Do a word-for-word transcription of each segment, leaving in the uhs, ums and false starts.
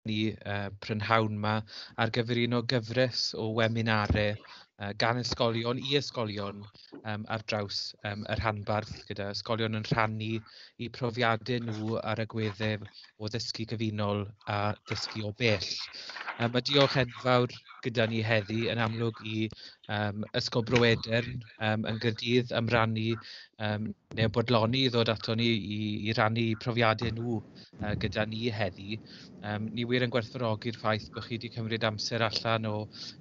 ni uh, prynhawn 'ma ar gyfer un o gyfres o weminarau uh, gan ysgolion i ysgolion um, ar draws um, y rhanbarth, gyda ysgolion yn rhannu eu profiadau nhw ar agweddau o ddysgu gyfunol a dysgu o bell. Um, mae diolch enfawr gyda ni heddi yn amlwg i um, Ysgol Bro Edern um, yn Gaerdydd am rannu um, neu bodloni i ddod ato ni i, i rannu profiadau nhw uh, gyda ni heddi. Um, ni wir yn gwerthfawrogi'r ffaith bod chi wedi cymryd amser allan o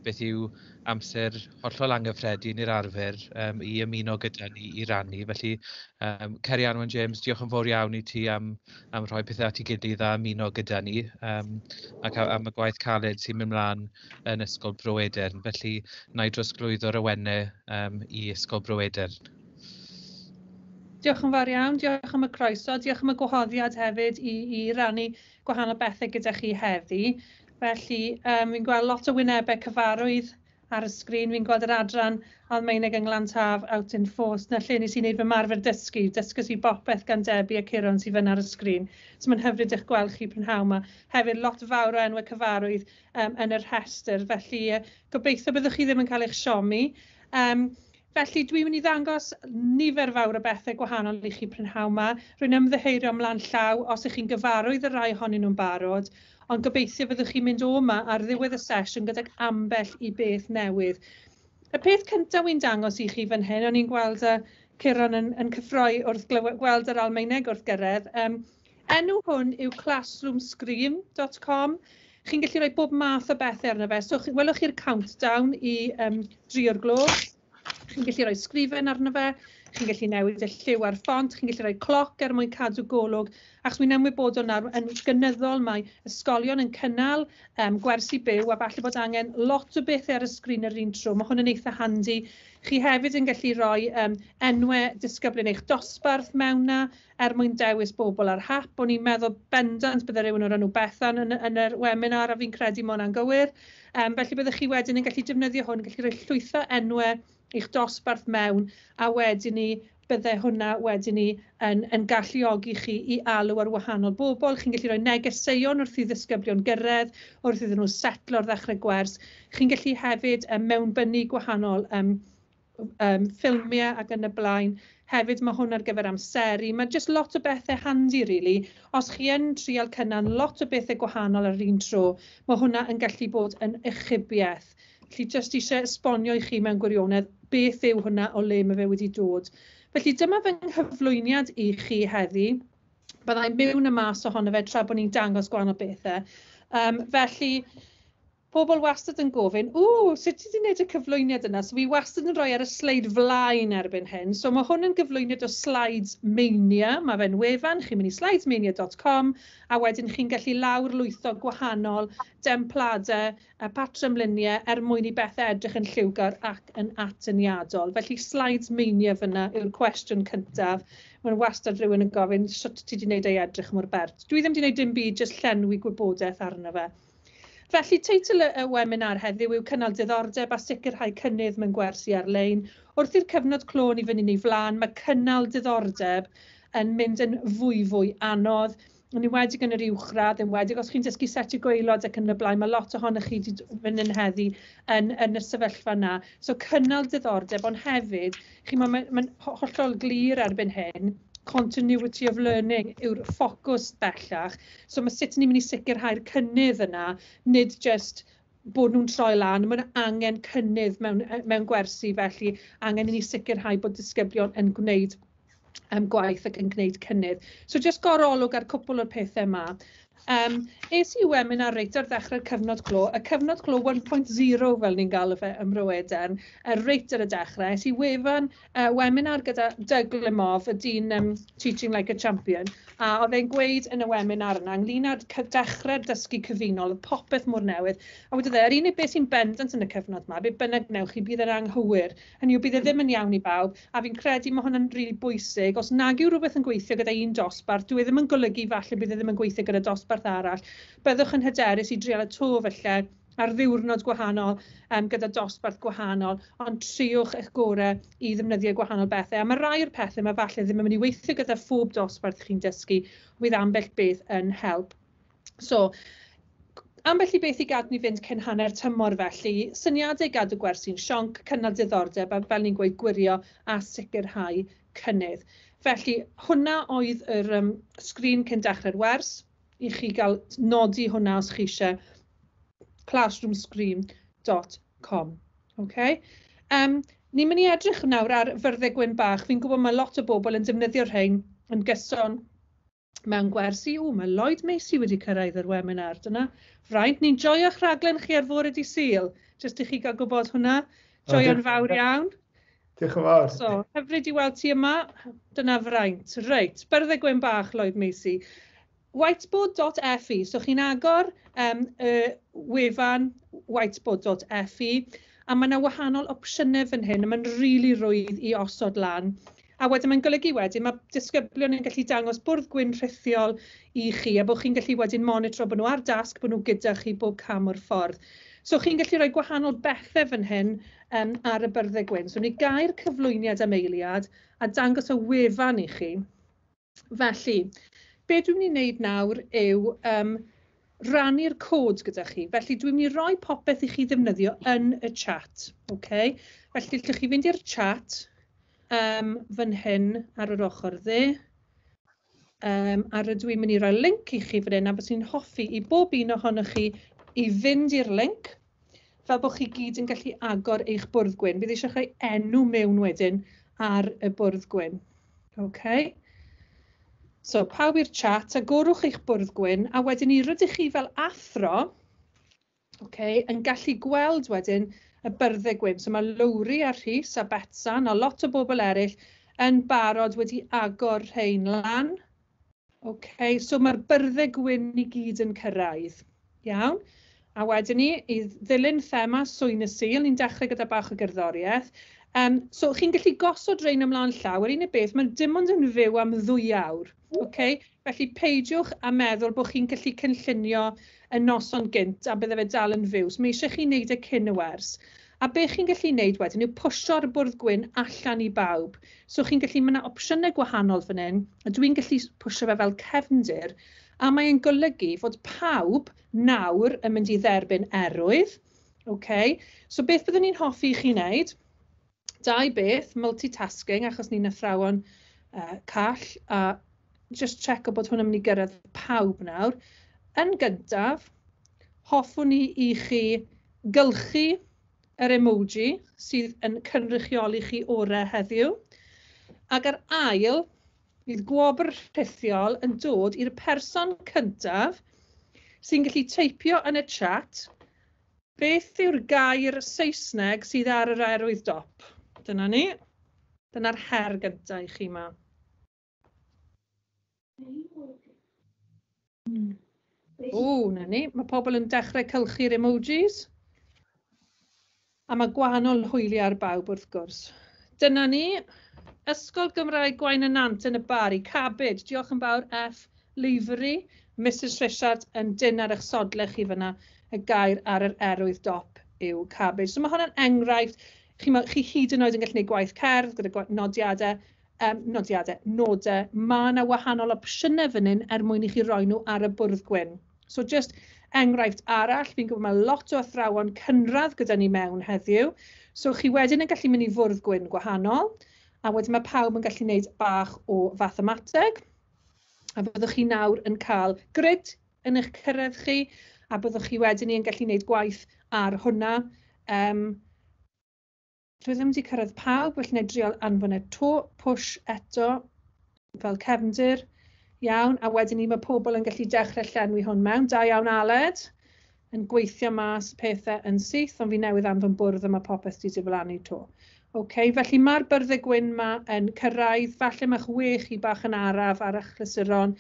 beth yw amser hollol anghyffredin i'r arfer um, i ymuno gyda ni i rannu. Felly, um, Ceri Anwen James, diolch yn fawr iawn i ti am, am rhoi pethau at ei gilydd a ymuno gyda ni um, ac am y gwaith caled sy'n mynd mlaen yn Ysgol Bro Edern. Felly, na i drosglwyddo'r awenau um, i Ysgol Bro Edern. Diolch yn fawr iawn, diolch am y croeso, diolch am y gwahoddiad hefyd i, i rannu gwahanol bethau gyda chi heddi. Felly, um, fi'n gweld lot o wynebau cyfarwydd ar y sgrin. Fi'n gweld yr adran Almaeneg yng Nglan-Taf out in force. 'Na lle nes i wneud fy marfer dysgu. Dysgus i bopeth gan Debbie a Ciron sydd fyna ar y sgrin. So mae'n hyfryd eich gweld chi prynhawn yma. Hefyd lot fawr o enwau cyfarwydd um, yn y rhestr. Felly uh, gobeithio byddwch chi ddim yn cael eich siomi. Um, Felly dwi'n mynd i ddangos nifer fawr o bethau gwahanol i chi prynhawn yma. Rwy'n ymddiheurio ymlaen llaw os ych chi'n gyfarwydd y rai ohonyn nhw'n barod, ond gobeithio fyddwch chi'n mynd o yma ar ddiwedd y sesiwn gydag ambell i beth newydd. Y peth cyntaf wy'n dangos i chi fan hyn, o'n i'n gweld y Ciron yn, yn cyffroi wrth gweld yr Almaeneg wrth gyrraedd. Um, enw hwn yw classroom screen dot com. Chi'n gallu rhoi bob math o bethau arno fe. So, welwch chi'r countdown i um, dri o'r gloch. Chi'n gallu rhoi sgrifen arno fe, chi'n gallu newid y lliw a'r ffont, chi'n gallu rhoi cloc er mwyn cadw golwg, achos mi'n ymwybodol nawr yn gynyddol mae ysgolion yn cynnal um, gwersi byw a falle bod angen lot o bethau ar y sgrin yr un tro. Mae hwn yn eitha handi. Chi hefyd yn gallu rhoi um, enwau disgyblion eich dosbarth mewn na er mwyn dewis bobl ar hap. O'n i'n meddwl bendant bydde rhywun o'r enw Bethan yn, yn yr webinar a fi'n credu mae hwnna'n gywir. Um, felly byddwch chi wedyn yn gallu defnyddio hwn, gallu rhoi llwytho enwau eich dosbarth mewn, a wedyn ni bydde hwnna wedyn ni yn, yn galluogi chi i alw ar wahanol bobl. Chi'n gallu rhoi negeseuon wrth i ddisgyblion gyrraedd, wrth iddyn nhw setlo ar ddechrau gwers. Chi'n gallu hefyd um, mewnbynnu gwahanol um, um, ffilmiau ac yn y blaen. Hefyd mae hwn ar gyfer amseru. Mae jyst lot o bethau handi, really. Os chi yn trial cynnal lot o bethau gwahanol ar un tro, mae hwnna yn gallu bod yn achubiaeth. Felly jyst eisiau esbonio i chi mewn gwirionedd beth yw hwnna, o le mae fe wedi dod. Felly dyma fy nghyflwyniad i chi heddi. Byddai'n mewn y mas ohono fe tra bod ni'n dangos gwahanol bethau. Um, felly, pobl wastad yn gofyn, ww, sut ti wedi gwneud y cyflwyniad yna? So fi wastad yn rhoi ar y sleid flaen erbyn hyn. So mae hwn yn gyflwyniad o Slides Mania. Mae fe'n wefan, chi'n mynd i slides mania dot com, a wedyn chi'n gallu lawrlwytho gwahanol dempladau a patrymluniau er mwyn i bethau edrych yn lliwgar ac yn atyniadol. Felly Slides Mania fyna yw'r cwestiwn cyntaf. Mae'n wastad rhywun yn gofyn, sut ti wedi gwneud ei edrych mor bert? Dwi ddim wedi gwneud dim byd, jyst llenwi gwybodaeth arno fe. Felly, teitl y webinar heddiw yw Cynnal Diddordeb a Sicrhau Cynnydd mewn Gwersi Ar-lein. Wrth i'r cyfnod clo ni fynd yn ei flaen, mae cynnal diddordeb yn mynd yn fwy fwy anodd. Yn enwedig yn yr uwchradd, yn enwedig os chi'n dysgu setiau gwaelod ac yn y blaen, mae lot ohonoch chi wedi mynd yn heddi yn, yn y sefyllfa yna. So cynnal diddordeb, ond hefyd, chi, mae'n ma, ma hollol glir erbyn hyn, continuity of learning yw'r ffocws bellach. So mae sut ni'n mynd i sicrhau'r cynnydd yna, nid just bod nhw'n troi lan, mae'n angen cynnydd mewn, mewn gwersi, felly angen i ni sicrhau bod disgyblion yn gwneud um, gwaith ac yn gwneud cynnydd. So just gorolwg ar cwpl o'r pethau yma. Um, es i webinar reit ar ddechrau'r cyfnod clo, y cyfnod clo un pwynt zero fel ni'n galw fe ym Mro Edern, reit ar y dechrau. Es i wefan uh, webinar gyda Doug Lemov, y dyn um, Teaching Like a Champion, a oedd e'n gweud yn y webinar yna, ynglyn â'r dechrau'r dysgu cyfunol, oedd popeth mor newydd, a wedodd e, yr unig beth sy'n bendant yn y cyfnod yma, be bynnag wnewch chi, bydd yn anghywir, hynny yw bydd e ddim yn iawn i bawb, a fi'n credu mae hwnna'n rili bwysig. Os nag yw rhywbeth yn gweithio gyda un dosbarth, dwi e ddim yn golygu falle bydd e ddim yn gweithio gyda dosbarth arall. Byddwch yn hyderus i drial y to felly ar ddiwrnod gwahanol, um, gyda dosbarth gwahanol, ond triwch eich gorau i ddefnyddio gwahanol bethau. A mae rai o'r pethau yma falle ddim yn mynd i weithio gyda phob dosbarth chi'n dysgu, bydd ambell beth yn help. So, Ambell i beth i gadw ni fynd cyn hanner tymor felly, syniadau gadw gwersi'n sionc, cynnal diddordeb a fel ni'n gweud gwirio a sicrhau cynnydd. Felly hwnna oedd yr um, sgrin cyn dechrau'r wers, i chi gael nodi hwnna os chi eisiau, classroom screen dot com. Okay? Um, ni'n mynd i edrych nawr ar fyrddau gwyn bach. Fi'n gwybod mae lot o bobl yn defnyddio'r rhain yn gyson mewn gwersi. O, mae Lloyd Macy wedi cyrraedd yr webinar. Dyna fraint. Ni'n joio'ch rhaglen chi ar fore dydd Sul. Jyst i chi gael gwybod hwnna. Joio'n fawr iawn. Diolch yn fawr. So, hyfryd i weld ti yma. Dyna fraint. Reit, byrddau gwyn bach, Lloyd Macy. whiteboard dot F E. So chi'n agor um, y wefan whiteboard dot F E a mae yna wahanol opsiynau fan hyn a mae'n rili really rwydd i osod lan. A wedyn mae'n golygu wedyn mae disgyblion yn gallu dangos bwrdd gwyn rhithiol i chi a bod chi'n gallu wedyn monitro bod nhw ar dasg, bod nhw gyda chi bob cam o'r ffordd. So chi'n gallu rhoi gwahanol bethau fan hyn um, ar y byrddau gwyn. So ni gair cyflwyniad am eiliad a dangos y wefan i chi. Felly, be dwi'n mynd i wneud nawr yw um, rannu'r cod gyda chi. Felly dwi'n mynd i roi popeth i chi ddefnyddio yn y chat. Okay? Felly allwch chi fynd i'r chat um, fan hyn ar yr ochr dde. Um, a rydw i'n mynd i roi link i chi fan hyn a bys i'n hoffi i bob un ohonoch chi i fynd i'r link fel bod chi gyd yn gallu agor eich bwrdd gwyn. Bydd eisiau rhoi enw mewn wedyn ar y bwrdd gwyn. Okay. So, pawb i'r chat, agorwch eich bwrdd gwyn, a wedyn ni rydych chi fel athro, okay, yn gallu gweld wedyn y byrddau gwyn. So, mae Lowri a Rhys a Betsan a lot o bobl eraill yn barod wedi agor rhain lan. Okay, so mae'r byrddau gwyn i gyd yn cyrraedd. Iawn. A wedyn ni, i ddilyn thema Swyn y Sul, ni'n dechrau gyda bach o gerddoriaeth. Um, so, chi'n gallu gosod rhain ymlaen llaw. Yr unig beth, mae'n dim ond yn fyw am ddwy awr. Okay? Felly, peidiwch a meddwl bod chi'n gallu cynllunio y noson gynt a bydde fe dal yn fyw. So, mae eisiau chi wneud e cyn y wers. A be chi'n gallu wneud wedyn yw pwsio'r bwrdd gwyn allan i bawb. So, chi'n gallu, mae yna opsiynau gwahanol fan hyn, a dwi'n gallu pwsio fe fel cefndir, a mae'n golygu fod pawb nawr yn mynd i dderbyn erwydd. Okay? So, beth byddwn ni'n hoffi i chi wneud? Dau beth, multitasking, achos ni'n athrawon uh, call, a just check o bod hwn yn mynd i gyrraedd pawb nawr. Yn gyntaf, hoffwn ni i chi gylchu yr emoji sydd yn cynrychioli chi orau heddiw. Ac ar ail, bydd gwobr rhithiol yn dod i'r person cyntaf sy'n gallu teipio yn y chat beth yw'r gair Saesneg sydd ar yr erwydd dop. Dyna ni. Dyna'r her gyntaf i chi yma. O, na ni. Mae pobl yn dechrau cylchu'r emojis. A mae gwahanol hwyliau ar bawb wrth gwrs. Dyna ni. Ysgol Gymraeg Gwaun y Nant yn y Bari. Cabbage. Diolch yn fawr F. Lavery. Missus Richard yn dyn ar eich sodle chi fyna. Y gair ar yr erwydd dop yw cabbage. So mae hwnna'n enghraifft. Chi, chi hyd yn oed yn gallu gwneud gwaith cerdd gyda nodiadau, um, nodiadau, nodau. Mae yna wahanol opsiynau fan hyn er mwyn i chi roi nhw ar y bwrdd gwyn. So just enghraifft arall, fi'n gwybod mae lot o athrawon cynradd gyda ni mewn heddiw. So chi wedyn yn gallu mynd i fwrdd gwyn gwahanol, a wedyn mae pawb yn gallu gwneud bach o fathemateg. A byddwch chi nawr yn cael grid yn eich cyrraedd chi, a byddwch chi wedyn yn gallu gwneud gwaith ar hwnna. Um, Dwi ddim wedi cyrraedd pawb, felly wna i drial anfon e to, push eto, fel cefndir. Iawn, a wedyn ni mae pobl yn gallu dechrau llenwi hwn mewn. Da iawn Aled, yn gweithio mas pethau yn syth, ond fi newydd anfon bwrdd a mae popeth wedi diflannu to. Okay, felly mae'r byrddau gwyn ma yn cyrraedd, falle mae'ch we chi bach yn araf ar achlysuron,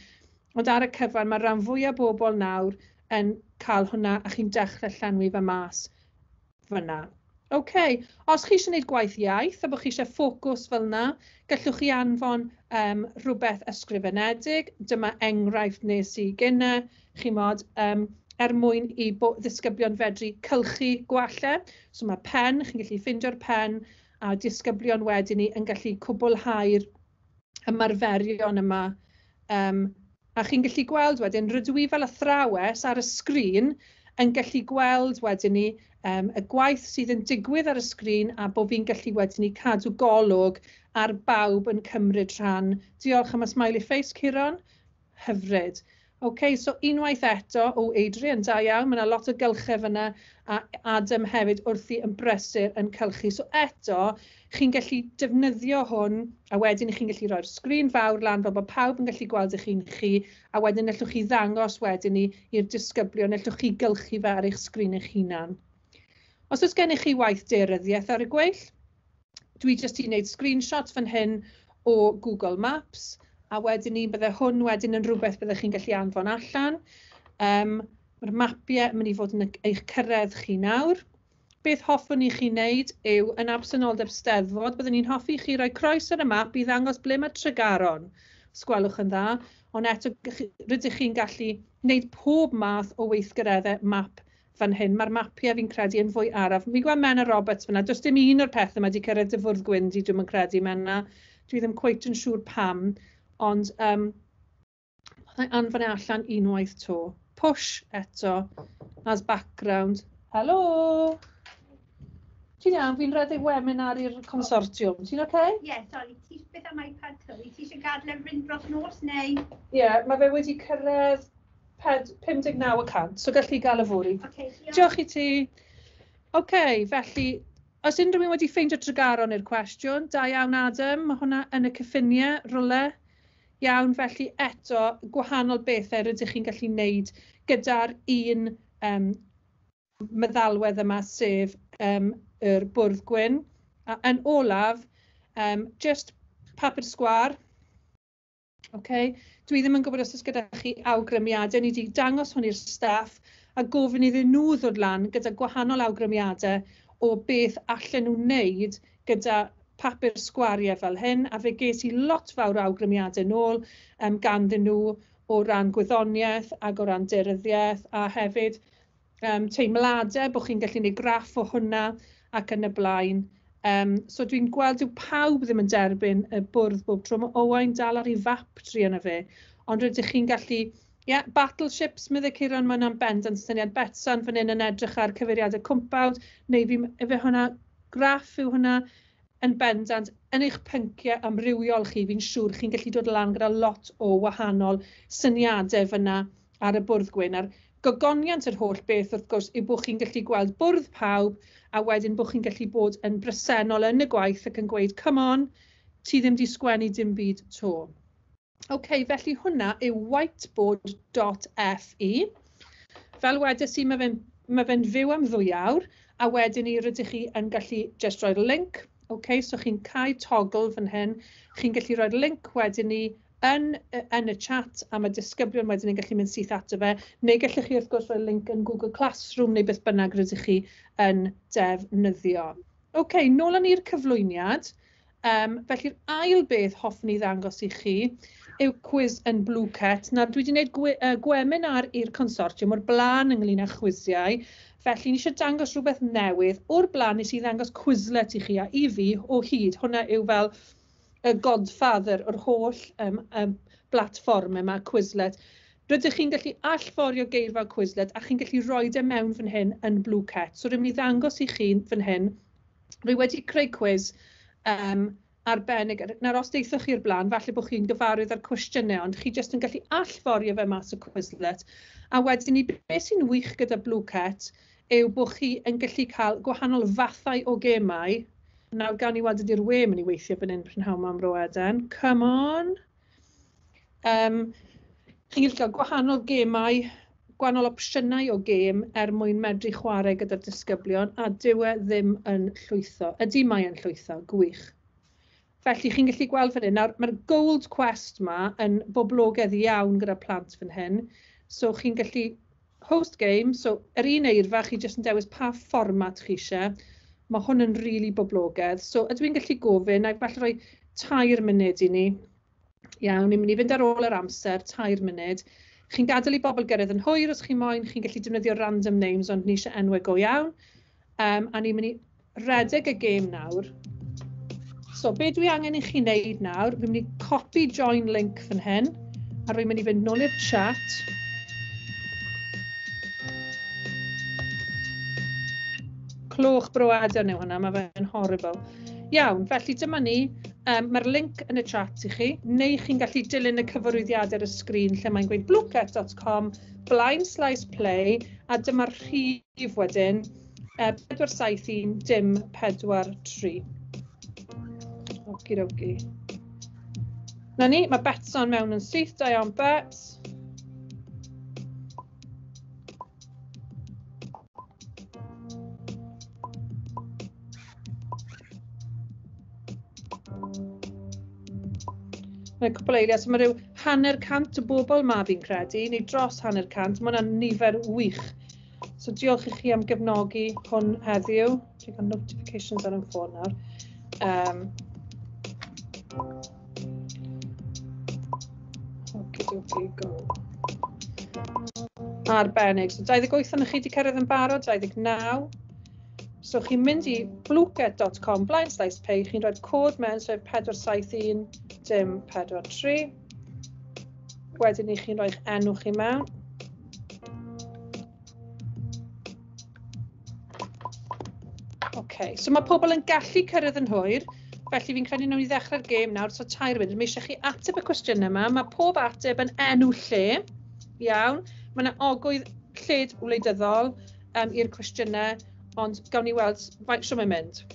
ond ar y cyfan mae rhan fwyaf bobl nawr yn cael hwnna a chi'n dechrau llenwi fe mas fyna. OK, os chi eisiau gwneud gwaith iaith a bod chi eisiau ffocws fel yna, gallwch chi anfon um, rhywbeth ysgrifenedig. Dyma enghraifft nes i gynne, chimod, um, er mwyn i ddisgyblion fedru cylchu gwallau. So mae pen, chi'n gallu ffeindio'r pen, a disgyblion wedyn ni yn gallu cwblhau'r ymarferion yma. Um, a chi'n gallu gweld wedyn, rydw i fel athrawes ar y sgrin yn gallu gweld wedyn ni um, y gwaith sydd yn digwydd ar y sgrin a bod fi'n gallu wedyn ni cadw golwg ar bawb yn cymryd rhan. Diolch am y smiley face, Ciron. Hyfryd. OK, so unwaith eto, o Adrian, da iawn, mae yna lot o gylchau fyna, a Adam hefyd wrthi yn brysur yn cylchu. So eto, chi'n gallu defnyddio hwn, a wedyn chi'n gallu rhoi'r sgrin fawr lan fel bod pawb yn gallu gweld eich hun chi, a wedyn allwch chi ddangos wedyn ni i'r disgyblion, allwch chi gylchu fe ar eich sgrin eich hunan. Os oes gennych chi waith daearyddiaeth ar y gweill, dwi jyst i wneud screenshot fan hyn o Google Maps, a wedyn ni bydde hwn wedyn yn rhywbeth byddech chi'n gallu anfon allan. Um, Mae'r mapiau yn mynd i fod yn eich cyrraedd chi nawr. Beth hoffwn i chi wneud yw, yn absenoldeb Steddfod, byddwn ni'n hoffi chi roi croes ar y map i ddangos ble mae Tregaron, os gwelwch yn dda. Ond eto, rydych chi'n gallu wneud pob math o weithgareddau map fan hyn. Mae'r mapiau fi'n credu yn fwy araf. Fi'n gweld Menna Roberts fyna. Does dim un o'r pethau yma wedi cyrraedd dy fwrdd gwyn di, dwi'm yn credu, Menna. Dwi ddim cweit yn siŵr pam. Ond um, anfon e allan unwaith to. Push eto as background. Helo! Ti'n iawn? Fi'n rhedeg webinar i'r consortiwm. Ti'n oce? Okay? Ie, yeah, sorry. Ti, beth am iPad Chloe? Ti eisiau gadael e fynd dros nos neu? Ie, yeah, mae fe wedi cyrraedd pum deg naw y cant, so gallu gael y fory. Okay, diolch. Diolch i ti. Oce, okay, felly, os unrhyw un wedi ffeindio Tregaron i'r cwestiwn, da iawn Adam, mae hwnna yn y cyffiniau, rwle. Iawn, felly eto, gwahanol bethau rydych chi'n gallu wneud gyda'r un um, meddalwedd yma, sef um, yr bwrdd gwyn. A yn olaf, um, just papur sgwâr. Okay. Dwi ddim yn gwybod os oes gyda chi awgrymiadau. Ni wedi dangos hwn i'r staff a gofyn iddyn nhw ddod lan gyda gwahanol awgrymiadau o beth allan nhw wneud gyda papur sgwariau fel hyn, a fe ges i lot fawr o awgrymiadau nôl um, ganddyn nhw o ran gwyddoniaeth ac o ran daearyddiaeth, a hefyd um, teimladau, bod chi'n gallu gwneud graff o hwnna ac yn y blaen. Um, so dwi'n gweld yw pawb ddim yn derbyn y bwrdd bob tro. Mae Owain dal ar ei fap tri yna fe, ond rydych chi'n gallu, yeah, battleships, meddai Ciron, mae hwnna'n bendant syniad. Betsan fan hyn yn edrych ar cyfeiriadau cwmpawd, neu fi, efe hwnna, graff yw hwnna, yn bendant, yn eich pynciau amrywiol chi, fi'n siŵr chi'n gallu dod lan gyda lot o wahanol syniadau fyna ar y bwrdd gwyn. A'r gogoniant yr holl beth, wrth gwrs, yw bod chi'n gallu gweld bwrdd pawb, a wedyn bod chi'n gallu bod yn bresennol yn y gwaith ac yn gweud, come on, ti ddim di sgwennu dim byd to. OK, felly hwnna yw whiteboard dot F E. Fel wedes i, mae fe'n mae fe'n fyw am ddwy awr, a wedyn ni rydych chi yn gallu just roi'r link. OK, so chi'n cau toggle fan hyn, chi'n gallu roi'r link wedyn ni yn, yn y chat, a mae disgyblion wedyn yn gallu mynd syth ato fe, neu gallwch chi wrth gwrs rhoi link yn Google Classroom neu beth bynnag rydych chi yn defnyddio. OK, nôl â ni'r cyflwyniad. Um, felly'r ail beth hoffwn i ddangos i chi yw cwis yn Blooket. Nawr, dwi wedi gwneud gwe, uh, gwebinar i'r consortiwm o'r blaen ynglyn â chwisiau, felly ni eisiau dangos rhywbeth newydd. O'r blaen nes i ddangos Quizlet i chi a i fi o hyd. Hwnna yw fel y godfather o'r holl um, um, blatfform yma, Quizlet. Rydych chi'n gallu allforio geirfa Quizlet a chi'n gallu rhoi e mewn fan hyn yn Blooket. So rwy'n mynd i ddangos i chi fan hyn. Rwy wedi creu cwis um, arbennig. Nawr, os deithoch chi'r blaen, falle bod chi'n gyfarwydd â'r cwestiynau, ond chi jyst yn gallu allforio fe mas o Quizlet. A wedyn ni, beth sy'n wych gyda Blooket yw bod chi yn gallu cael gwahanol fathau o gemau. Nawr, gawn ni weld ydy'r we mynd i weithio fan hyn prynhawn 'ma am Roeden. Come on! Um, chi'n gallu cael gwahanol gemau, gwahanol opsiynau o gêm er mwyn medru chwarae gyda'r disgyblion, a dyw e ddim yn llwytho. Ydy mae yn llwytho, gwych. Felly chi'n gallu gweld fan hyn. Nawr, mae'r Gold Quest ma yn boblogaidd iawn gyda plant fan hyn. So chi'n gallu host game, so yr un eirfa, chi jyst yn dewis pa fformat chi eisiau. Mae hwn yn rili really boblogaidd. So ydw i'n gallu gofyn, a falle rhoi tair munud i ni. Iawn, ni'n mynd i fynd ar ôl yr amser, tair munud. Chi'n gadael i bobl gyrraedd yn hwyr os chi moyn, chi'n gallu defnyddio random names, ond ni eisiau enwau go iawn. Um, a ni'n mynd i redeg y gêm nawr. So, be dwi angen i chi wneud nawr, fi'n mynd i copy join link fan hyn, a rwy'n mynd i fynd nôl i'r chat. Cloch Bro Edern yw hwnna, mae fe'n horrible. Iawn, felly dyma ni. Um, Mae'r link yn y chat i chi, neu chi'n gallu dilyn y cyfarwyddiadau ar y sgrin lle mae'n gweud blooket dot com, blaen slaes play, a dyma'r rhif wedyn, uh, pedwar saith un dim pedwar tri. Okie dokie. Na ni, mae Betsan mewn yn syth, da iawn Bets. Mae cwpl eiliad, so mae rhyw hanner cant o bobl ma fi'n credu, neu dros hanner cant, mae hwnna'n nifer wych. So diolch i chi am gefnogi hwn heddiw. Dwi'n cael notifications ar yn ffôn nawr. Um, Okie dokie, go. Arbennig. So dau ddeg wyth ohonoch chi wedi cyrraedd yn barod, dau ddeg naw. So chi'n mynd i blooket dot com, blaen slaes pay, chi'n rhoi cod mewn, sef pedwar saith un dim pedwar tri. Wedyn i chi'n rhoi'ch enw chi mewn. Okay, so mae pobl yn gallu cyrraedd yn hwyr, felly fi'n credu nawn ni ddechrau'r gêm nawr, so tair munud. Mae eisiau chi ateb y cwestiynau yma. Mae pob ateb yn enw lle, iawn. Mae yna ogwydd lled wleidyddol um, i'r cwestiynau, ond gawn ni weld faint shwt mae'n mynd.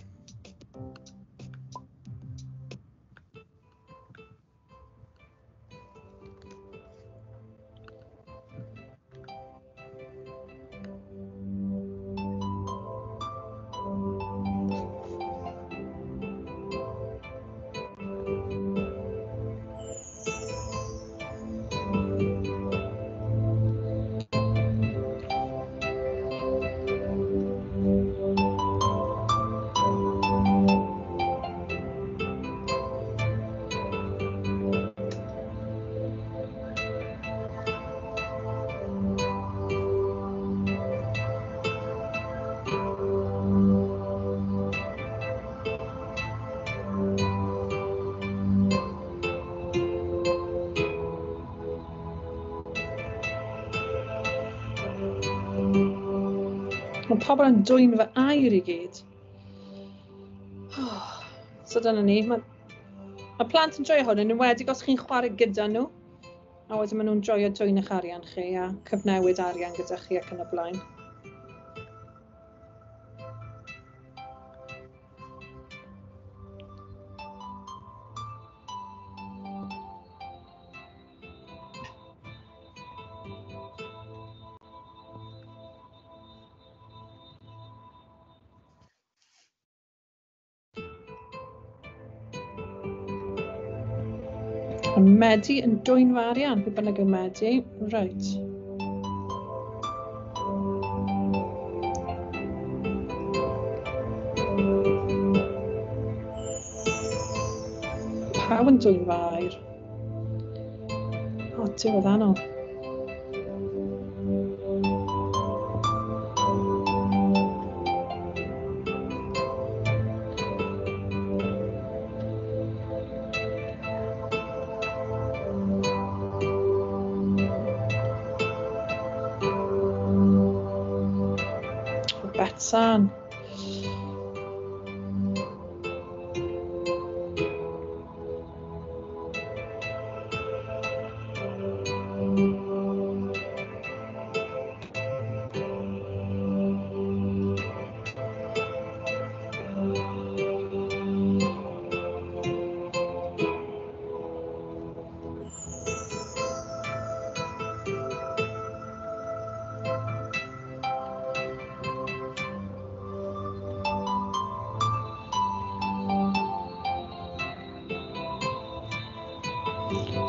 Mae pobl yn dwyn fy air i gyd. Oh, so dyna ni. Mae, mae plant yn joio hwn, yn enwedig os chi'n chwarae gyda nhw. A wedyn maen nhw'n joio dwyn eich arian chi a cyfnewid arian gyda chi ac yn y blaen. Medi yn dwyn fy arian, pwy bynnag yw Medi. Reit. Pawb yn dwyn fy air. O, diwedd anodd. Betsan.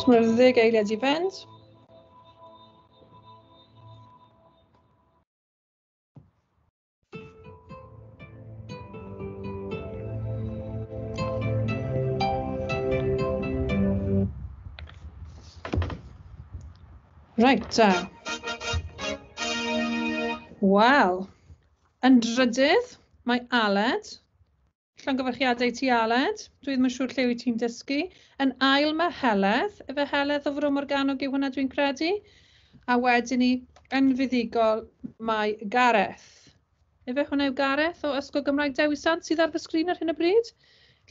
So mae'r ddeg eiliad i fynd. Reit, ta. Wel, yn drydydd, mae Aled. Llongyfarchiadau ti, Aled. Dwi ddim yn siŵr lle wyt ti'n dysgu. Yn ail mae Heledd. Efe Heledd o Fro Morgannwg yw hwnna dwi'n credu. A wedyn ni, yn fuddugol, mae Gareth. Efe hwnna yw Gareth o Ysgol Gymraeg Dewi Sant sydd ar fy sgrin ar hyn o bryd.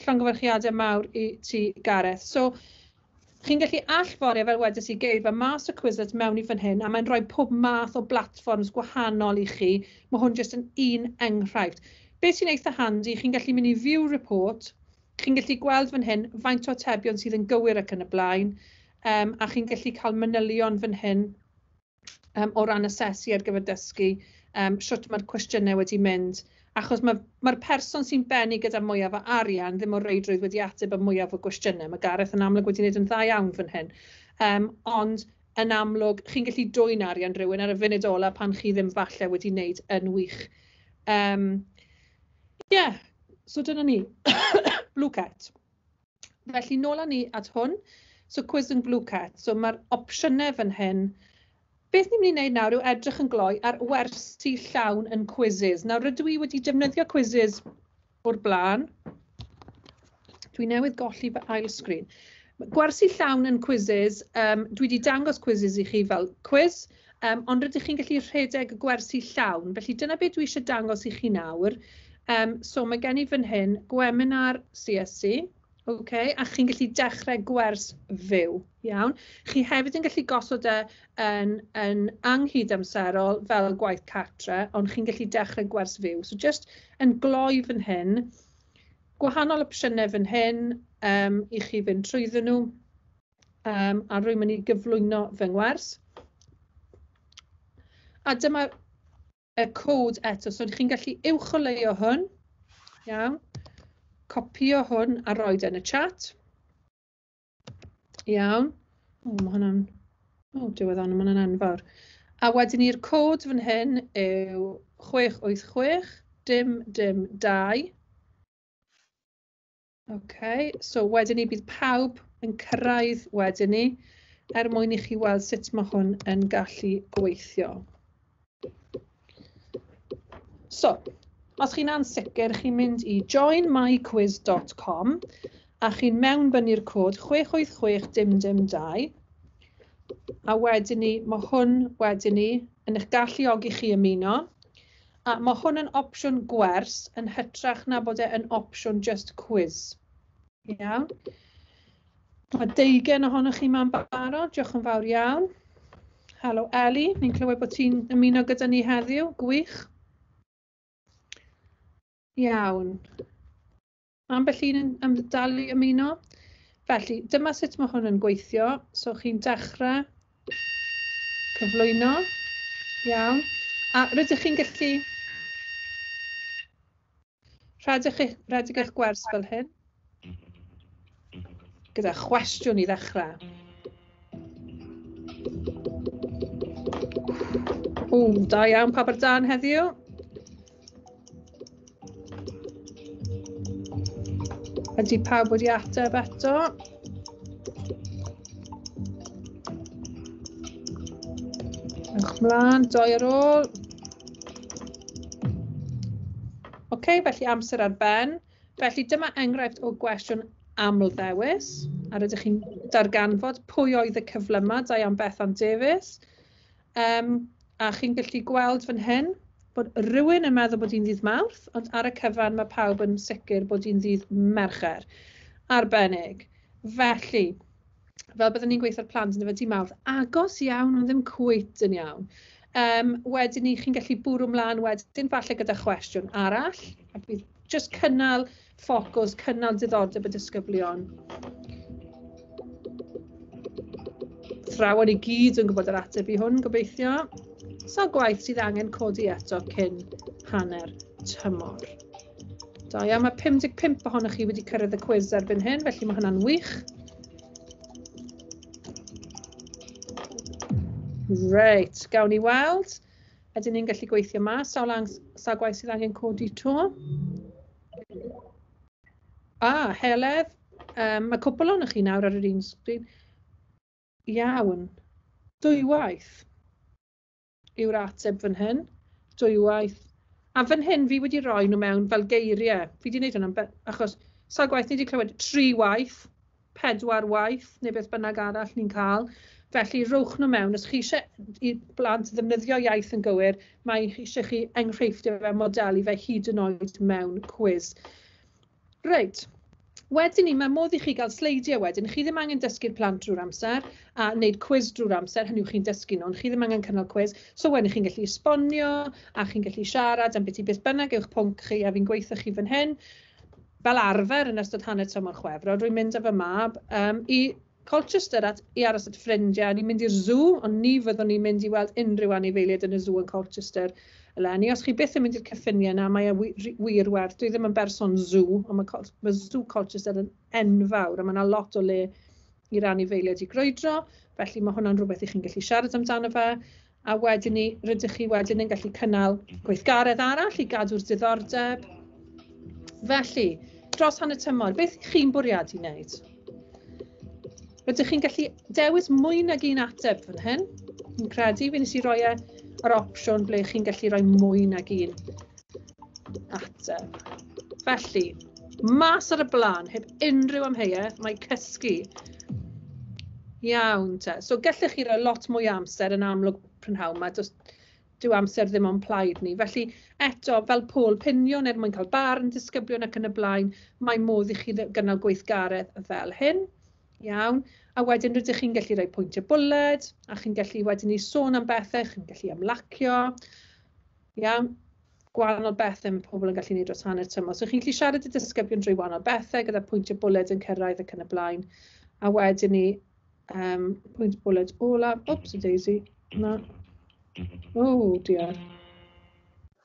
Llongyfarchiadau mawr i ti, Gareth. So, chi'n gallu allforio, fel wedes i, geirfa mas o Quizlet mewn i fan hyn, a mae'n rhoi pob math o blatfforms gwahanol i chi. Mae hwn jyst yn un enghraifft. Beth sy'n eitha handi, chi'n gallu mynd i View Report, chi'n gallu gweld fan hyn faint o atebion sydd yn gywir ac yn y blaen, um, a chi'n gallu cael manylion fan hyn um, o ran asesu ar gyfer dysgu, um, shwt mae'r cwestiynau wedi mynd. Achos mae'r mae person sy'n bennu gyda mwyaf o arian ddim o reidrwydd wedi ateb y mwyaf o gwestiynau. Mae Gareth yn amlwg wedi gwneud yn dda iawn fan hyn. Um, ond yn amlwg, chi'n gallu dwyn arian rhywun ar y funud ola pan chi ddim falle wedi wneud yn wych. Um, yeah, so dyna ni. Blooket. Felly nôl â ni at hwn. So quiz yn Blooket. So mae'r opsiynau fan hyn. Beth ni'n mynd i wneud nawr yw edrych yn gloi ar wersi llawn yn Quizizz. Nawr rydw i wedi defnyddio Quizizz o'r blaen. Dwi newydd golli fy ail sgrin. Gwersi llawn yn Quizizz, um, dwi wedi dangos Quizizz i chi fel quiz, um, ond rydych chi'n gallu rhedeg gwersi llawn. Felly dyna beth dwi eisiau dangos i chi nawr. Um, so mae gen i fan hyn gwebinar C S C. Okay, a chi'n gallu dechrau gwers fyw, iawn. Chi hefyd yn gallu gosod e yn, yn anghydamserol fel gwaith cartre, ond chi'n gallu dechrau gwers fyw. So just yn gloi fan hyn, gwahanol opsiynau fan hyn um, i chi fynd trwyddyn nhw, um, a rwy'n mynd i gyflwyno fy ngwers. A dyma y cod eto, so chi'n gallu uwcholeuo hwn, iawn. Copio hwn a roed yn y chat. Iawn. O, mae hwnna'n... O, diwedd ond, mae hwnna'n enfawr. A wedyn ni'r cod fan hyn yw chwech wyth chwech dim dim dau. OK, so wedyn ni bydd pawb yn cyrraedd wedyn ni er mwyn i chi weld sut mae hwn yn gallu gweithio. So, os chi'n ansicr, chi'n mynd i join my quiz dot com a chi'n mewnbynnu'r cod chwech wyth chwech dim dim dau. A wedyn ni, mae hwn wedyn ni yn eich galluogi chi ymuno. A mae hwn yn opsiwn gwers yn hytrach na bod e yn opsiwn just quiz. Iawn. Mae deugain ohonoch chi ma'n barod, diolch yn fawr iawn. Helo Ellie, ni'n clywed bod ti'n ymuno gyda ni heddiw, gwych. Iawn. Ambell un yn, yn dal i ymuno. Felly, dyma sut mae hwn yn gweithio. So, chi'n dechrau cyflwyno. Iawn. A rydych chi'n gallu rhedeg eich, rhedeg eich gwers fel hyn. Gyda chwestiwn i ddechrau. O, da iawn pawb ar dân heddiw. Ydy pawb wedi ateb eto? Ewch mlaen, doi ar ôl. OK, felly amser ar ben. Felly dyma enghraifft o gwestiwn amlddewis. A rydych chi'n darganfod pwy oedd y cyflyma, da iawn Bethan Davies. Um, a chi'n gallu gweld fan hyn bod rhywun yn meddwl bod hi'n ddydd Mawrth, ond ar y cyfan mae pawb yn sicr bod hi'n ddydd Mercher. Arbennig. Felly, fel byddwn ni'n gweithio'r plant yn y dydd Mawrth, agos iawn, ond ddim cweit yn iawn. Um, wedyn ni, chi'n gallu bwrw mlaen wedyn, falle gyda chwestiwn arall, a bydd just cynnal ffocws, cynnal diddordeb y disgyblion. Thrawon i gyd yn gwybod yr ateb i hwn, gobeithio. Sawl gwaith sydd angen codi eto cyn hanner tymor. Da iawn, mae pum deg pump ohonoch chi wedi cyrraedd y cwis erbyn hyn, felly mae hwnna'n wych. Reit, gawn ni weld. Ydyn ni'n gallu gweithio mas, sawl, sawl gwaith sydd angen codi to? Ah, Heledd, um, mae cwpl ohonoch chi nawr ar yr un sgrin. Iawn, dwywaith yw'r ateb fan hyn, dwywaith. A fan hyn fi wedi rhoi nhw mewn fel geiriau. Fi wedi gwneud hwnna achos sawl gwaith ni wedi clywed tri waith, pedwar waith, neu beth bynnag arall ni'n cael. Felly, rowch nhw mewn. Os chi eisiau i blant ddefnyddio iaith yn gywir, mae eisiau chi enghreifftiau fe, modelu fe hyd yn oed mewn cwis. Reit. Wedyn ni, mae modd i chi gael sleidiau wedyn. Chi ddim angen dysgu'r plant drwy'r amser a wneud cwis drwy'r amser, hynny yw chi'n dysgu nhw, ond chi ddim angen cynnal cwis. So wedyn chi'n gallu esbonio a chi'n gallu siarad am beth i beth bynnag yw'ch pwnc chi, a fi'n gweithio chi fan hyn. Fel arfer yn ystod hanner tymor Chwefror, rwy'n mynd â fy mab um, i Colchester at, i aros at ffrindiau, ni'n mynd i'r zoo, ond ni fyddwn ni'n mynd i weld unrhyw anifeiliaid yn y zoo yn Colchester eleni. Os chi byth yn mynd i'r cyffiniau yna, mae e wir werth. Dwi ddim yn berson zoo, ond mae, mae zoo Colchester yn enfawr, a mae yna lot o le i'r anifeiliaid i grwydro, felly mae hwnna'n rhywbeth i chi'n gallu siarad amdano fe. A wedyn ni, rydych chi wedyn yn gallu cynnal gweithgaredd arall i gadw'r diddordeb. Felly, dros hanner tymor, beth chi'n bwriadu wneud? Rydych chi'n gallu dewis mwy nag un ateb fan hyn. Fi'n credu, fi nes i roi e yr opsiwn ble chi'n gallu rhoi mwy nag un ateb. Felly, mas ar y blaen, heb unrhyw amheuaeth, mae cysgu. Iawn te. So gallech chi roi lot mwy o amser yn amlwg prynhawn 'ma. Does dyw amser ddim o'n plaid ni. Felly eto, fel pôl pinion er mwyn cael barn disgyblion ac yn y blaen, mae modd i chi gynnal gweithgaredd fel hyn. Iawn. A wedyn rydych chi'n gallu rhoi pwyntiau bwled, a chi'n gallu wedyn i sôn am bethau, chi'n gallu ymlacio. Iawn. Gwahanol bethau mae pobl yn gallu gwneud dros hanner tymor. So chi'n gallu siarad â disgyblion drwy wahanol bethau, gyda pwyntiau bwled yn cyrraedd ac yn y blaen. A wedyn ni, um, pwynt bwled olaf. Oops, daisy. Na. Oh dear.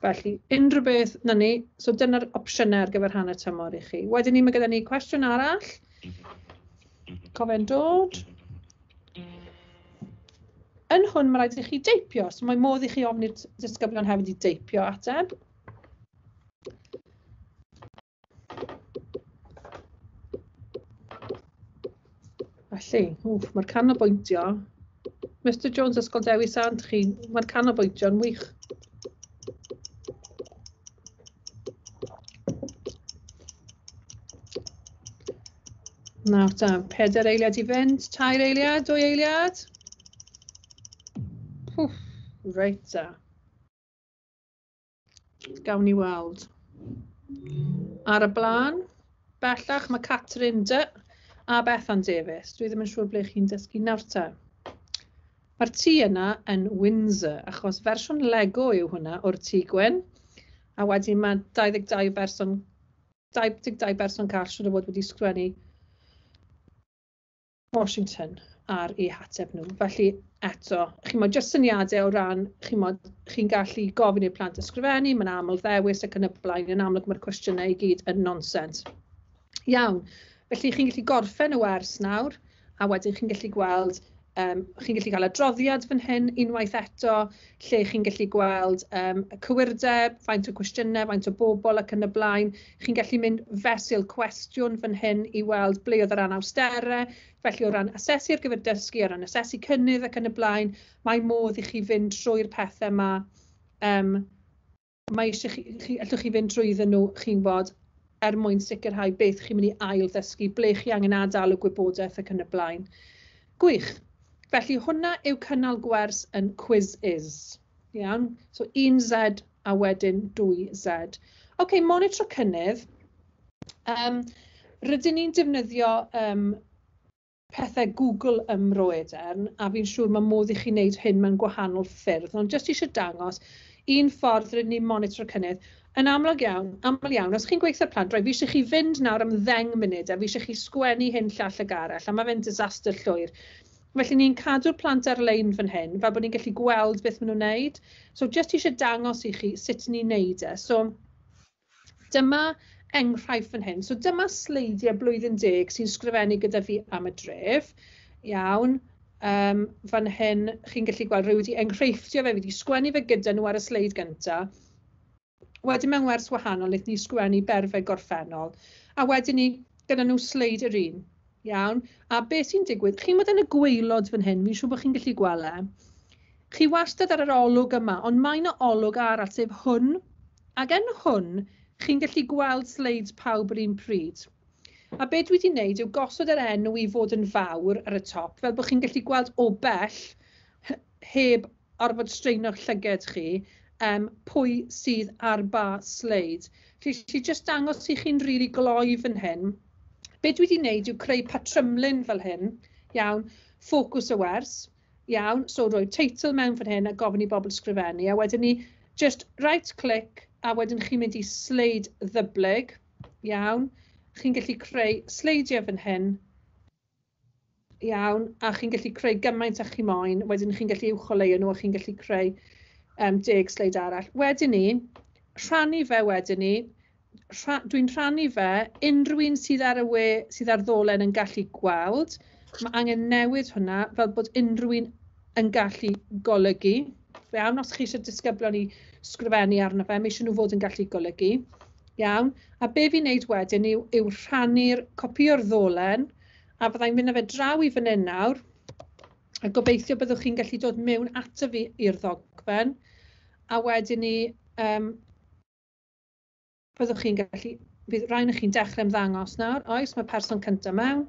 Felly, unrhyw beth, na ni. So dyna'r opsiynau ar gyfer hanner tymor i chi. Wedyn ni, mae gyda ni cwestiwn arall. Cofio'n dod. Yn hwn, mae rhaid i chi deipio. So mae modd i chi ofyn i'r disgyblion hefyd i deipio ateb. Felly, wff, mae'r canolbwyntio. Mister Jones, Ysgol Dewi Sant, chi, mae'r canolbwyntio'n wych. Nawr ta, pedair eiliad i fynd, tair eiliad, dwy eiliad. Pwff, reit ta. Gawn ni weld. Ar y blaen, bellach mae Catrin D a Bethan Davies. Dwi ddim yn siŵr ble chi'n dysgu nawr ta. Mae'r tŷ yna yn Windsor, achos fersiwn Lego yw hwnna o'r tŷ gwyn. A wedyn mae dau ddeg dau berson, dau ddeg dau berson call siŵr o fod wedi sgwennu Washington ar eu hateb nhw. Felly eto, chi'n mod, jyst syniadau o ran, chi'n mod, chi'n gallu gofyn i'r plant ysgrifennu, mae'n aml ddewis ac yn y blaen, yn amlwg mae'r cwestiynau i gyd yn nonsens. Iawn, felly chi'n gallu gorffen y wers nawr, a wedyn chi'n gallu gweld, um, chi'n gallu cael adroddiad fan hyn unwaith eto, lle chi'n gallu gweld um, y cywirdeb, faint o cwestiynau, faint o bobl ac yn y blaen. Chi'n gallu mynd fesul cwestiwn fan hyn i weld ble oedd yr anawsterau. Felly o ran asesu ar gyfer dysgu, o ran asesu cynnydd ac yn y blaen, mae modd i chi fynd trwy'r pethau yma. Um, mae eisiau chi, chi, allwch chi fynd trwyddyn nhw, chi'n bod, er mwyn sicrhau beth chi'n mynd i ail ddysgu, ble chi angen adael y gwybodaeth ac yn y blaen. Gwych. Felly hwnna yw cynnal gwers yn Quizizz. Iawn? So un Z a wedyn dwy Z. OK, monitro cynnydd. Um, rydyn ni'n defnyddio um, pethau Google ym Mro Edern, a fi'n siŵr mae modd i chi wneud hyn mewn gwahanol ffyrdd, ond jyst eisiau dangos un ffordd rydyn ni'n monitro cynnydd. Yn amlwg iawn, aml iawn, os chi'n gweithio plant, rhaid fi eisiau chi fynd nawr am ddeng munud a fi eisiau chi sgwennu hyn llall ag arall, a mae fe'n disaster llwyr. Felly ni'n cadw'r plant ar-lein fan hyn, fel bod ni'n gallu gweld beth maen nhw'n wneud. So jyst eisiau dangos i chi sut ni'n wneud e. So dyma enghraifft fan hyn. So dyma sleidiau blwyddyn deg sy'n sgrifennu gyda fi am y dref. Iawn. Um, fan hyn chi'n gallu gweld rwy wedi enghreifftio fe, fi wedi sgwennu fe gyda nhw ar y sleid gyntaf. Wedyn mewn wers wahanol, wnaethon ni sgwennu berfau gorffennol. A wedyn ni gyda nhw sleid yr un. Iawn. A beth sy'n digwydd, chi'n bod yn y gwaelod fan hyn, fi'n siŵr bod chi'n gallu gweld e. Chi wastad ar yr olwg yma, ond mae yna olwg arall, sef hwn. Ac yn hwn, chi'n gallu gweld sleids pawb yr un pryd. A be dwi wedi wneud yw gosod yr enw i fod yn fawr ar y top, fel bod chi'n gallu gweld o bell, heb orfod straeno'ch llyged chi, um, pwy sydd ar ba sleid. Felly, si jyst dangos i chi'n rili gloi fan hyn. Be dwi wedi wneud yw creu patrymlun fel hyn, iawn, ffocws y wers, iawn, so rhoi teitl mewn fan hyn a gofyn i bobl sgrifennu, a wedyn ni just right click, a wedyn chi'n mynd i sleid ddyblyg, iawn, chi'n gallu creu sleidiau fan hyn, iawn, a chi'n gallu creu gymaint â chi moyn, wedyn chi'n gallu uwcholeuo nhw a chi'n gallu creu um, deg sleid arall. Wedyn ni, rhannu fe wedyn ni, rha, dwi'n rhannu fe, unrhyw un sydd ar y we, sydd ar ddolen yn gallu gweld, mae angen newid hwnna fel bod unrhyw un yn gallu golygu. Iawn, os chi eisiau disgyblion i sgrifennu arno fe, mae eisiau nhw fod yn gallu golygu. Iawn, a be fi'n neud wedyn yw, yw rhannu'r copio'r ddolen, a fyddai'n mynd â fe draw i fan hyn nawr, a gobeithio byddwch chi'n gallu dod mewn ato fi i'r ddogfen, a wedyn ni, um, byddwch chi'n gallu, bydd rhaid i chi'n dechrau ymddangos nawr, oes, mae person cyntaf mewn,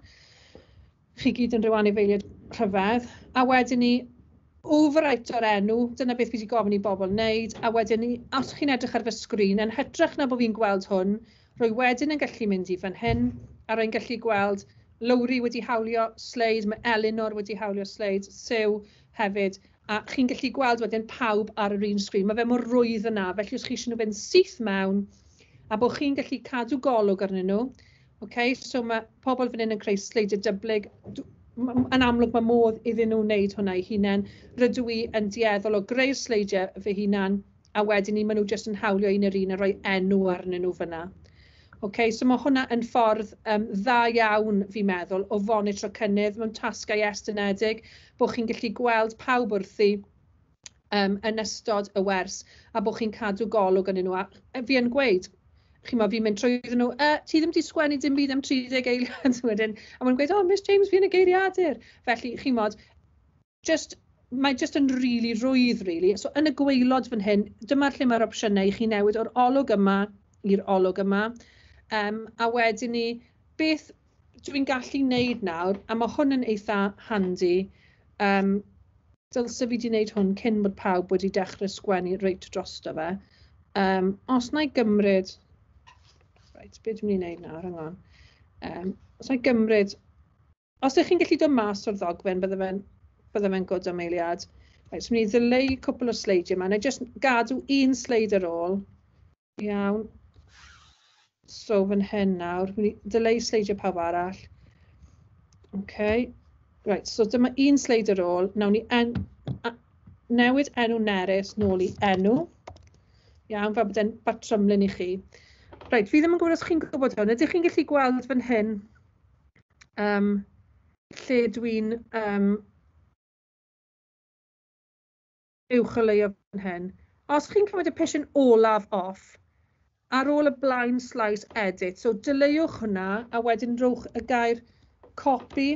chi gyd yn rhyw anifeiliaid rhyfedd, a wedyn ni overwrite o'r enw, dyna beth fi wedi gofyn i bobl wneud, a wedyn ni, os chi'n edrych ar fy sgrin, yn hytrach na bod fi'n gweld hwn, rwy wedyn yn gallu mynd i fan hyn, a rwy'n gallu gweld Lowri wedi hawlio sleid, mae Elinor wedi hawlio sleid, Sue hefyd, a chi'n gallu gweld wedyn pawb ar yr un sgrin. Mae fe mor rwydd yna, felly os chi eisiau nhw fynd syth mewn, a bod chi'n gallu cadw golwg arnyn nhw. Okay, so mae pobl fan hyn yn creu sleidiau dyblyg. Yn amlwg mae modd iddyn nhw wneud hwnna eu hunain. Rydw i yn dueddol o greu'r sleidiau fy hunan, a wedyn ni maen nhw jyst yn hawlio un yr un a rhoi enw arnyn nhw fyna. Okay, so mae hwnna yn ffordd um, dda iawn, fi'n meddwl, o fonitro cynnydd mewn tasgau estynedig, bod chi'n gallu gweld pawb wrthi um, yn ystod y wers, a bod chi'n cadw golwg arnyn nhw. A fi yn gweud, chi'n meddwl, fi'n mynd trwyddyn nhw, e, ti ddim wedi sgwennu dim byd am tri deg eiliad wedyn, a maen nhw'n gweud, oh, Miss James, fi yn y geiriadur. Felly, chi'n modd, just, mae just yn really rwydd, really. So, yn y gwaelod fan hyn, dyma'r lle mae'r opsiynau i chi newid o'r olwg yma i'r olwg yma. Um, a wedyn ni, beth dwi'n gallu wneud nawr, a mae hwn yn eitha handi, um, dylse fi wedi wneud hwn cyn bod pawb wedi dechrau sgwennu reit drosto fe. Um, os na i gymryd, reit, beth dwi'n mynd i wneud nawr, hang on. Um, os na i gymryd, os ydych chi'n gallu dod mas o'r ddogfen, bydde fe'n bydde fe'n good am eiliad. Reit, so mynd i ddileu cwpl o sleidiau yma. Na i jyst gadw un sleid ar ôl. Iawn. So fan hyn nawr, mynd i ddileu sleidiau pawb arall. Okay. Right, so dyma un sleid ar ôl. Nawn ni en, a, newid enw Nerys nôl i enw. Iawn, fel bod e'n batrymlun i chi. Reit, fi ddim yn gwybod os chi'n gwybod hwn. Ydych chi'n gallu gweld fan hyn um, lle dwi'n um, uwcholeuo fan hyn? Os chi'n cymryd y pishyn olaf off, ar ôl y blind slice edit, so dileuwch hwnna a wedyn rhowch y gair copy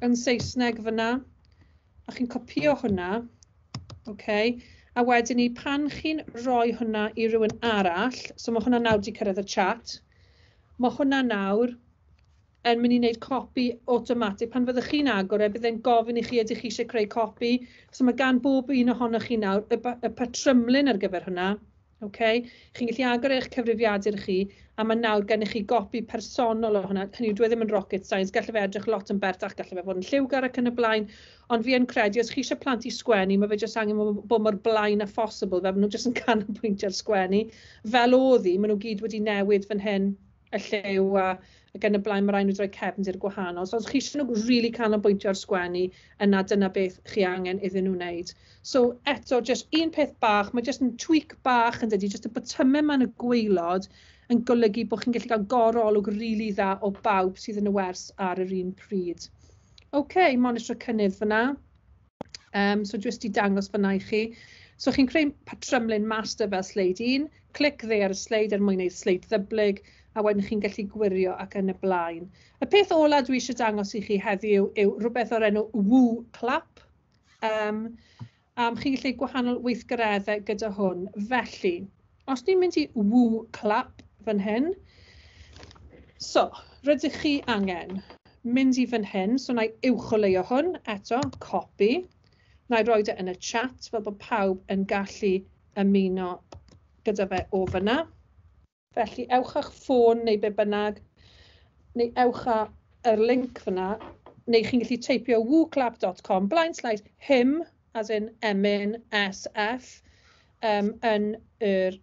yn Saesneg fyna, a chi'n copio hwnna, okay. A wedyn ni, pan chi'n rhoi hwnna i rywun arall, so mae hwnna nawr wedi cyrraedd y chat, mae hwnna nawr yn mynd i wneud copi automatic. Pan fyddwch chi'n agor e, bydd e'n gofyn i chi ydych chi eisiau creu copi. So mae gan bob un ohonoch chi nawr y, y patrymlun ar gyfer hwnna. Okay. Chi'n gallu agor eich cyfrifiadur chi, a mae nawr gennych chi gopi personol o hwnna. Hynny yw, dwi ddim yn rocket science, gallai fe edrych lot yn bertach, gallai fe fod yn lliwgar ac yn y blaen, ond fi yn credu, os chi eisiau plant i sgwennu, mae fe jyst angen bod mor blaen â phosibl, fel maen nhw jyst yn canolbwyntio ar sgwennu. Fel oedd hi, maen nhw gyd wedi newid fan hyn y lliw a ac yn y blaen, mae rhaid nhw rhoi cefndir gwahanol. So os chi eisiau nhw really canolbwyntio ar sgwennu, yna dyna beth chi angen iddyn nhw wneud. So eto, just un peth bach, mae just yn tweak bach yn dydi, just y botymau yma yn y gwaelod yn golygu bod chi'n gallu cael gorolwg really dda o bawb sydd yn y wers ar yr un pryd. OK, monitro cynnydd fyna. Um, so jyst i dangos fyna i chi. So chi'n creu patrymlun master fel sleid un, clic dde ar y sleid er mwyn gwneud sleid ddyblyg, a wedyn chi'n gallu gwirio ac yn y blaen. Y peth ola dwi eisiau dangos i chi heddiw yw rhywbeth o'r enw WooClap. Um, um, chi'n gallu gwahanol weithgareddau gyda hwn. Felly, os ni'n mynd i WooClap fan hyn, so, Rydych chi angen mynd i fan hyn, so na i uwcholeuo hwn eto, copy. Na i roi e yn y chat fel bod pawb yn gallu ymuno gyda fe o fyna. Felly ewch â'ch ffôn neu be bynnag, neu ewch â yr link fyna, neu chi'n gallu teipio wooclap dot com blaen slaes hymn, as in emyn, S F, um, yn yr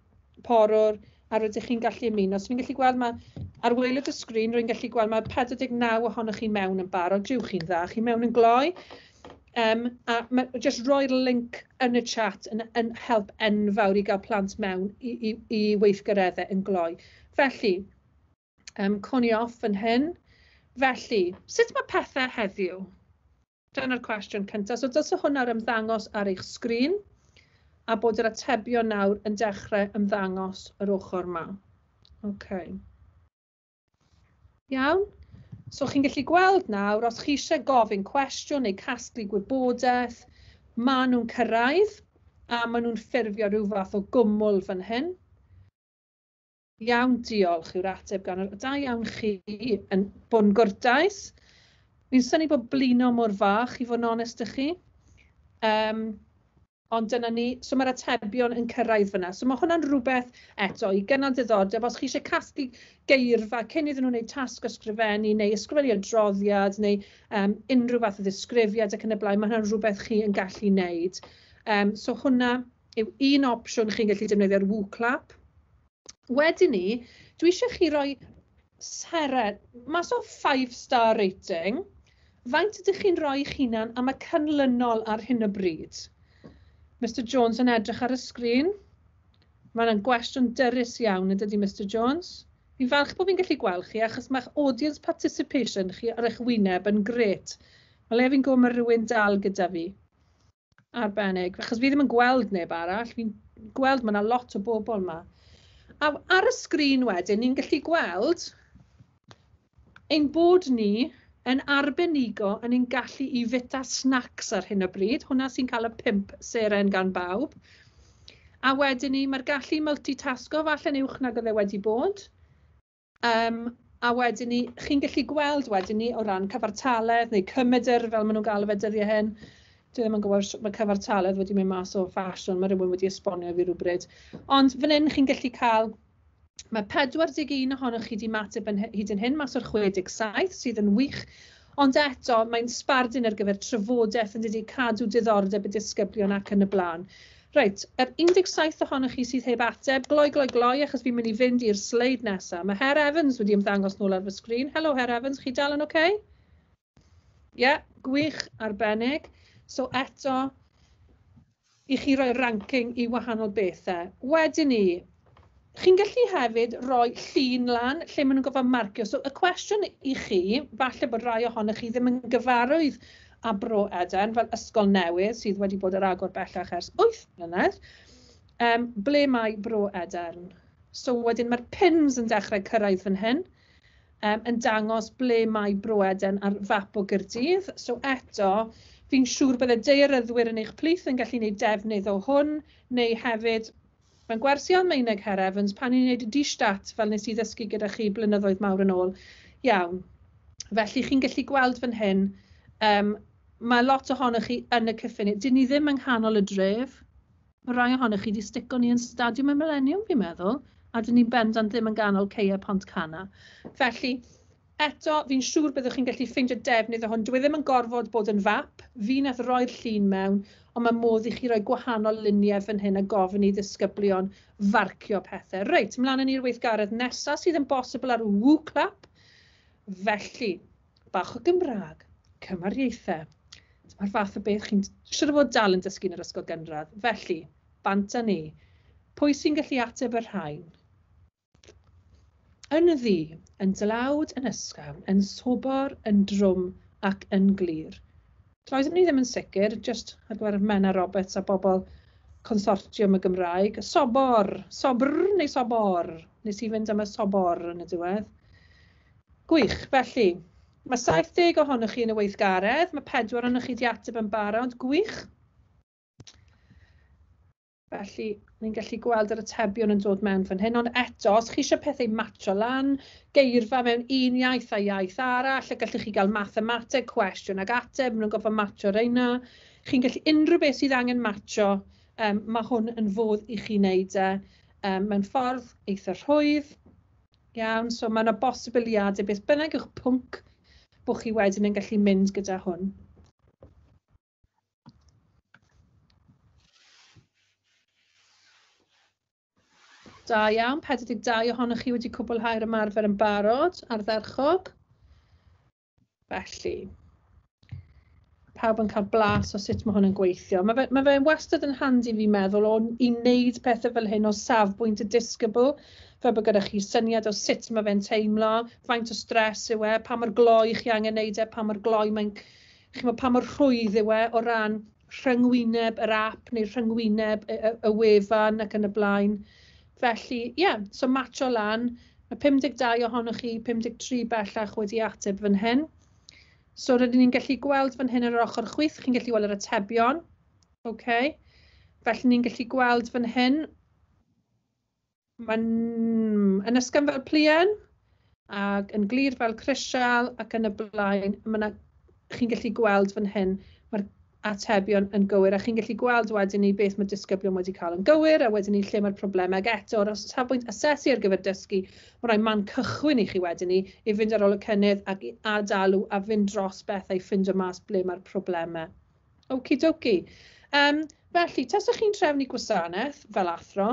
porwr, a rydych chi'n gallu ymuno. So fi'n gallu gweld mae, ar waelod y sgrin, rwy'n gallu gweld mae pedwar deg naw ohonoch chi mewn yn barod. Jiw, chi'n dda, chi mewn yn gloi. Um, a ma, just roi'r link yn y chat yn, yn help enfawr i gael plant mewn i, i, i weithgareddau yn gloi. Felly, um, coni off yn hyn. Felly, sut mae pethau heddiw? Dyna'r cwestiwn cyntaf. So, dylse hwnna'r ymddangos ar eich sgrin a bod yr atebion nawr yn dechrau ymddangos yr ochr yma. Okay. Iawn? So chi'n gallu gweld nawr, os chi eisiau gofyn cwestiwn neu casglu gwybodaeth, maen nhw'n cyrraedd a maen nhw'n ffurfio rhyw fath o gwmwl fan hyn. "Iawn, diolch" yw'r ateb gan yr... Da iawn chi yn bod yn gwrtais. Fi'n synnu bod blino mor fach, i fod yn onest â chi. Um, ond dyna ni, so mae'r atebion yn cyrraedd fyna. So mae hwnna'n rhywbeth eto i gynnal diddordeb. Os chi eisiau casglu geirfa cyn iddyn nhw wneud tasg ysgrifennu neu ysgrifennu adroddiad neu um, unrhyw fath o ddisgrifiad ac yn y blaen, mae hwnna'n rhywbeth chi yn gallu wneud. Um, so hwnna yw un opsiwn chi'n gallu defnyddio'r WooClap. Wedyn ni, dwi eisiau chi roi seren, mas o five star rating, faint ydych chi'n rhoi eich hunan am y canlynol ar hyn o bryd? Mister Jones yn edrych ar y sgrin. Mae'n gwestiwn dyrys iawn, yn dydy, Mister Jones? Fi'n falch bod fi'n gallu gweld chi, achos mae'ch audience participation chi ar eich wyneb yn gret. Mae le fi'n gwybod mae rhywun dal gyda fi. Arbennig. Achos fi ddim yn gweld neb arall. Fi'n gweld mae yna lot o bobl yma. A ar y sgrin wedyn, ni'n gallu gweld ein bod ni yn arbenigo yn ein gallu i fwyta snacks ar hyn o bryd. Hwna sy'n cael y pump seren gan bawb. A wedyn ni, mae'r gallu multitasgo falle'n uwch nag oedd e wedi bod. Um, a wedyn ni, chi'n gallu gweld wedyn ni o ran cyfartaledd neu cymedr, fel maen nhw'n galw fe dyddiau hyn. Dwi ddim yn gwybod sut mae cyfartaledd wedi mynd mas o ffasiwn, mae rhywun wedi esbonio fi rhywbryd. Ond fan hyn chi'n gallu cael, mae pedwar deg un ohonoch chi wedi ymateb yn hyd yn hyn, mas o'r chwe deg saith, sydd yn wych. Ond eto, mae'n sbardun ar gyfer trafodaeth yn dydi, cadw diddordeb y disgyblion ac yn y blaen. Reit, yr un deg saith ohonoch chi sydd heb ateb, gloi, gloi, gloi, achos fi'n mynd i fynd i'r sleid nesaf. Mae Herr Evans wedi ymddangos nôl ar fy sgrin. Helo, Herr Evans, chi dal yn oce? Okay? Ie, yeah, gwych, arbennig. So eto, i chi roi ranking i wahanol bethau. Wedyn ni, chi'n gallu hefyd roi llun lan lle maen nhw'n gorfod marcio. So y cwestiwn i chi, falle bod rai ohonoch chi ddim yn gyfarwydd â Bro Edern fel ysgol newydd sydd wedi bod ar agor bellach ers wyth mlynedd, um, ble mae Bro Edern? So wedyn mae'r pins yn dechrau cyrraedd fan hyn, um, yn dangos ble mae Bro Edern ar fap o Gaerdydd. So eto, fi'n siŵr bydde daearyddwyr yn eich plith yn gallu gwneud defnydd o hwn, neu hefyd, mae'n gwersi Almaeneg, Herr Evans, pan ni'n gwneud y Die Stadt, fel nes i ddysgu gyda chi blynyddoedd mawr yn ôl. Iawn. Felly chi'n gallu gweld fan hyn, um, mae lot ohonoch chi yn y cyffiniau. Dyn ni ddim yng nghanol y dref. Mae rai ohonoch chi wedi stico ni yn Stadiwm y Millennium, fi'n meddwl, a dyn ni'n bendant ddim yn ganol Ceia Pontcanna. Felly, eto, fi'n siŵr byddwch chi'n gallu ffeindio defnydd o hwn. Dwi ddim yn gorfod bod yn fap. Fi nath roi'r llun mewn, ond mae modd i chi roi gwahanol luniau fan hyn a gofyn i ddisgyblion farcio pethau. Reit, ymlaen â ni'r weithgaredd nesaf sydd yn bosibl ar WooClap. Felly, bach o Gymraeg, cymariaethau. Dyma'r fath o beth chi'n siŵr o fod dal yn dysgu yn yr ysgol gynradd. Felly, bant â ni. Pwy sy'n gallu ateb y rhain? Yn ddu, yn dlawd, yn ysgafn, yn sobor, yn drwm ac yn glir. Doeddwn ni ddim yn sicr, just ar gyfer Menna Roberts a bobl Consortiwm y Gymraeg. Sobor, sobr neu sobor? Nes i fynd am y sobor yn y diwedd. Gwych, felly, mae saith deg ohonoch chi yn y weithgaredd, mae pedwar ohonoch chi wedi ateb yn barod, gwych. Felly, ni'n gallu gweld yr atebion yn dod mewn fan hyn, ond eto, os chi eisiau pethau matcho lan, geirfa mewn un iaith a iaith arall, a gallwch chi gael mathemateg, cwestiwn ag ateb, maen nhw'n gorfod matcho reina. Chi'n gallu unrhyw beth sydd angen matcho, um, mae hwn yn fodd i chi wneud e um, mewn ffordd eitha rhwydd. Iawn, so mae yna bosibiliadau beth bynnag yw'ch pwnc bod chi wedyn yn gallu mynd gyda hwn. Da iawn, pedwar deg dau ohonoch chi wedi cwblhau'r ymarfer yn barod, ardderchog. Felly, pawb yn cael blas o sut mae hwn yn gweithio. Mae fe, mae fe'n wastad yn handi fi'n meddwl o i wneud pethau fel hyn o safbwynt y disgybl, fel bod gyda chi syniad o sut mae fe'n teimlo, faint o stres yw e, pa mor gloi chi angen wneud e, pa mor gloi mae'n, chi'mod, pa mor rhwydd yw e o ran rhyngwyneb yr app neu rhyngwyneb y, y, y wefan ac yn y blaen. Felly, ie, yeah, so matcho lan. Mae pum deg dau ohonoch chi, pum deg tri bellach wedi ateb fan hyn. So rydyn ni'n gallu gweld fan hyn ar yr ochr chwith, chi'n gallu gweld yr atebion. Okay. Felly ni'n gallu gweld fan hyn, mae'n yn ysgafn fel pluen, ac yn glir fel crisial, ac yn y blaen. Ma' 'na, chi'n gallu gweld fan hyn, mae'r atebion yn gywir, a chi'n gallu gweld wedyn ni beth mae disgyblion wedi cael yn gywir, a wedyn ni lle mae'r problemau. Ac eto, o'r safbwynt asesu ar gyfer dysgu, mae rhai man cychwyn i chi wedyn ni i fynd ar ôl y cynnydd ac i adalw a fynd dros bethau i ffindo mas ble mae'r problemau. Okidoki. Um, felly, tasech chi'n trefnu gwasanaeth fel athro,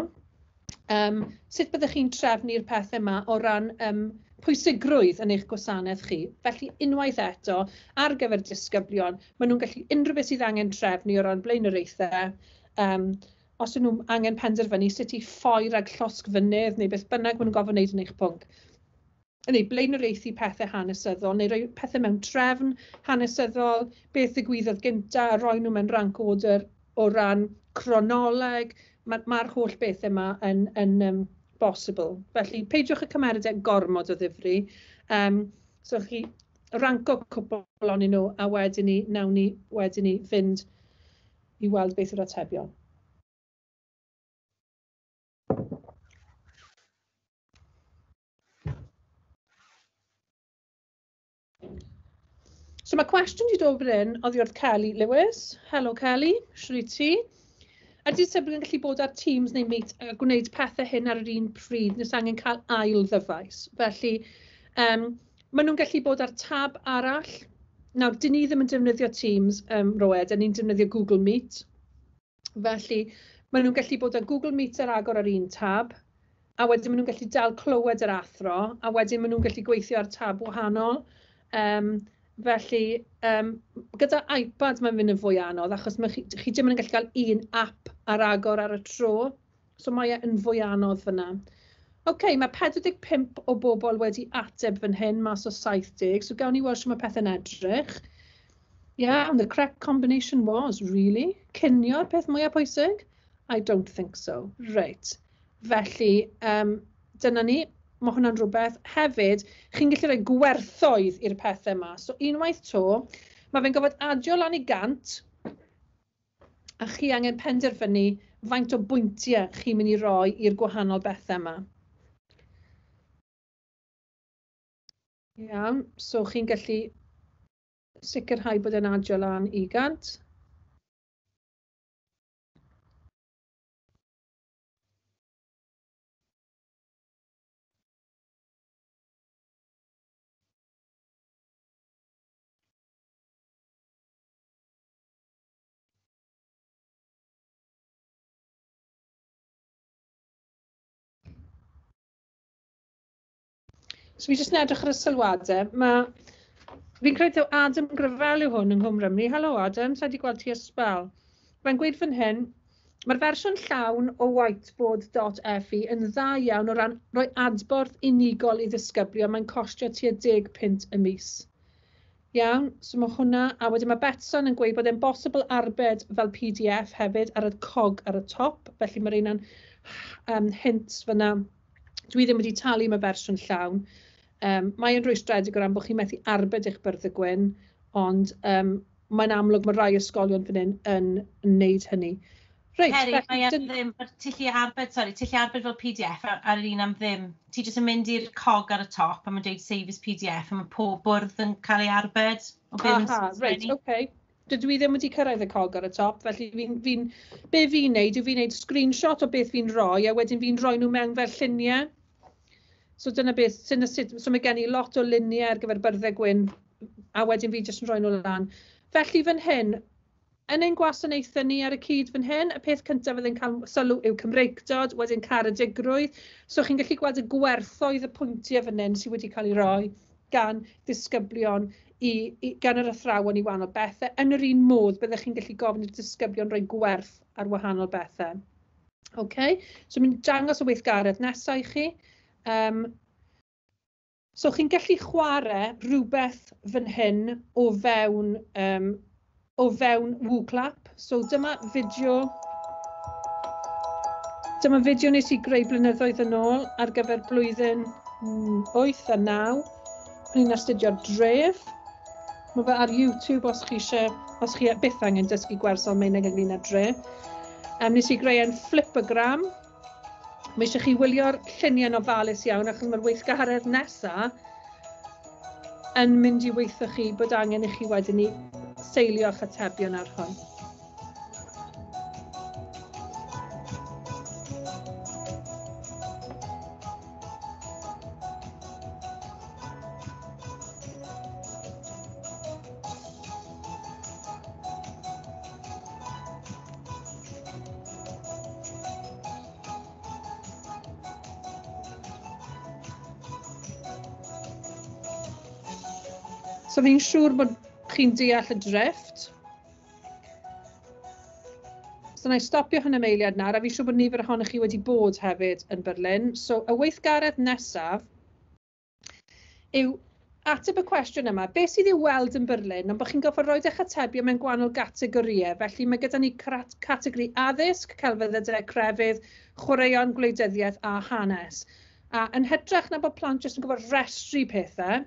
um, sut byddech chi'n trefnu'r pethau yma o ran um, pwysigrwydd yn eich gwasanaeth chi? Felly, unwaith eto, ar gyfer disgyblion, maen nhw'n gallu unrhyw beth sydd angen trefnu o ran blaenoriaethau. Um, os ydyn nhw angen penderfynu sut i ffoi rhag llosgfynydd neu beth bynnag maen nhw'n gorfod wneud yn eich pwnc. Neu blaenoriaethu pethau hanesyddol, neu rhoi pethau mewn trefn hanesyddol, beth ddigwyddodd gynta, a rhoi nhw mewn rank order o ran cronoleg. Mae'r ma holl bethau yma yn, yn um, bosibl. Felly, peidiwch y cymeryd e gormod o ddifri. Um, so chi ranco cwpl onyn nhw, a wedyn ni, nawn ni, wedyn ni fynd i weld beth yw'r atebion. So mae cwestiwn wedi dod fan hyn oddi wrth Kelly Lewis. Helo Kelly, shwt wyt ti? Ydy disgyblion yn gallu bod ar Teams neu Meet a gwneud pethau hyn ar yr un pryd, nes angen cael ail ddyfais? Felly, um, maen nhw'n gallu bod ar tab arall. Nawr, dyn ni ddim yn defnyddio Teams, um, Roed, dyn ni'n defnyddio Google Meet. Felly, maen nhw'n gallu bod ar Google Meet ar agor ar un tab, a wedyn maen nhw'n gallu dal clywed yr athro, a wedyn maen nhw'n gallu gweithio ar tab wahanol. Um, Felly, um, gyda iPad mae'n mynd yn fwy anodd, achos mae chi, chi dim ond yn gallu cael un app ar agor ar y tro, so mae e yn fwy anodd fyna. OK, mae pedwar deg pump o bobl wedi ateb fan hyn mas o saith deg, so gawn ni weld sut mae pethau'n edrych. Yeah, and the correct combination was, really? Cinio'r peth mwyaf pwysig? I don't think so. Reit. Felly, um, dyna ni. Mae hwnna'n rhywbeth. Hefyd, chi'n gallu rhoi gwerthoedd i'r pethau yma. So unwaith to, mae fe'n gorfod adio lan i gant, a chi angen penderfynu faint o bwyntiau chi'n mynd i roi i'r gwahanol bethau yma. Iawn, so chi'n gallu sicrhau bod e'n adio lan i gant. So fi jyst yn edrych ar y sylwadau. Ma, fi'n credu taw Adam Gravel yw hwn yng Nghwm Rhymni. Helo Adam, sa i 'di gweld ti ers sbel. Mae'n gweud fan hyn, mae'r fersiwn llawn o whiteboard dot F E yn dda iawn o ran rhoi adborth unigol i ddisgyblion. Mae'n costio tua deg punt y mis. Iawn, so mae hwnna, a wedyn mae Betsan yn gweud bod e'n bosibl arbed fel P D F hefyd ar y cog ar y top, felly mae'r un um, hint fyna. Dwi ddim wedi talu am y fersiwn llawn. Um, mae yn rhwystredig o ran bod chi'n methu arbed eich byrddau gwyn, ond um, mae'n amlwg mae rhai ysgolion fan hyn yn wneud hynny. Reit, Ceri, mae am ddim, ti'n gallu arbed, sorry, ti'n gallu arbed fel P D F ar, ar yr un am ddim. Ti jyst yn mynd i'r cog ar y top a mae'n dweud save as P D F a mae pob bwrdd yn cael ei arbed. Aha, reit, oce. Okay. Dydw i ddim wedi cyrraedd y cog ar y top, felly fi'n, fi be fi'n neud yw fi'n neud screenshot o beth fi'n rhoi a wedyn fi'n rhoi nhw mewn fel lluniau. So dyna beth, dyna sut, so mae gen i lot o luniau ar gyfer byrddau gwyn a wedyn fi jyst yn rhoi nhw lan. Felly fan hyn, yn ein gwasanaethau ni ar y cyd fan hyn, y peth cyntaf fydd yn cael sylw yw Cymreictod, wedyn caredigrwydd. So chi'n gallu gweld y gwerthoedd y pwyntiau fan hyn sydd wedi cael ei roi gan ddisgyblion, i, i, gan yr athrawon i wahanol bethau. Yn yr un modd, byddech chi'n gallu gofyn i'r disgyblion roi gwerth ar wahanol bethau. Okay? So mi'n dangos y weithgaredd nesaf i chi. Um, so chi'n gallu chwarae rhywbeth fan hyn o fewn, um, o fewn WooClap. So dyma fideo, dyma fideo nes i greu blynyddoedd yn ôl ar gyfer blwyddyn wyth a naw. O'n i'n astudio'r dref. Mae fe ar YouTube os chi eisiau, os chi byth angen dysgu gwers Almaeneg ynglyn â dre. Um, nes i greu yn flipagram. Mae eisiau chi wylio'r lluniau'n ofalus iawn achos mae'r weithgaredd nesaf yn mynd i weithio chi bod angen i chi wedyn i seilio eich atebion ar hwn. So fi'n siŵr bod chi'n deall y drifft. So na i stopio hwn am eiliad nawr, a fi'n siŵr bod nifer ohonoch chi wedi bod hefyd yn Berlin. So y weithgaredd nesaf yw ateb y cwestiwn yma. Beth sydd i'w weld yn Berlin, ond bod chi'n gorfod rhoi eich atebion mewn gwahanol gategorïau. Felly mae gyda ni categori addysg, celfyddydau, crefydd, chwaraeon, gwleidyddiaeth a hanes. A yn hytrach na bod plant jyst yn gorfod restru pethau,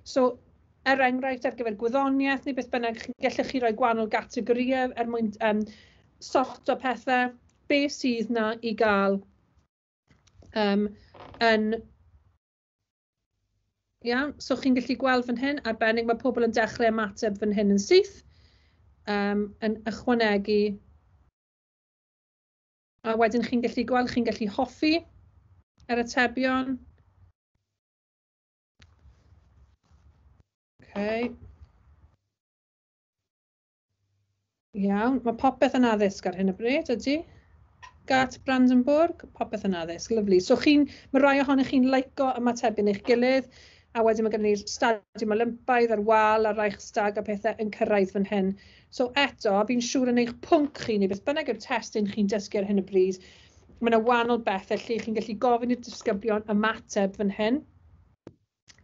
so er enghraifft ar gyfer gwyddoniaeth neu beth bynnag, gallech chi roi gwahanol gategorïau er mwyn um, sorto pethau, beth sydd na i gael um, yn... Iawn, so chi'n gallu gweld fan hyn, arbennig mae pobl yn dechrau ymateb fan hyn yn syth, um, yn ychwanegu. A wedyn chi'n gallu gweld, chi'n gallu hoffi yr atebion. Okay. Iawn, mae popeth yn addysg ar hyn o bryd, ydy? Gart Brandenburg, popeth yn addysg, lyfli. So chi'n, mae rai ohonych chi'n licio ymatebion eich gilydd, a wedyn mae gen ni'r Stadiwm Olympaidd a'r wal a'r Reichstag a pethau yn cyrraedd fan hyn. So eto, fi'n siŵr yn eich pwnc chi, neu beth bynnag yw'r testun chi'n dysgu ar hyn o bryd, mae yna wahanol bethau lle chi'n gallu gofyn i'r disgyblion ymateb fan hyn,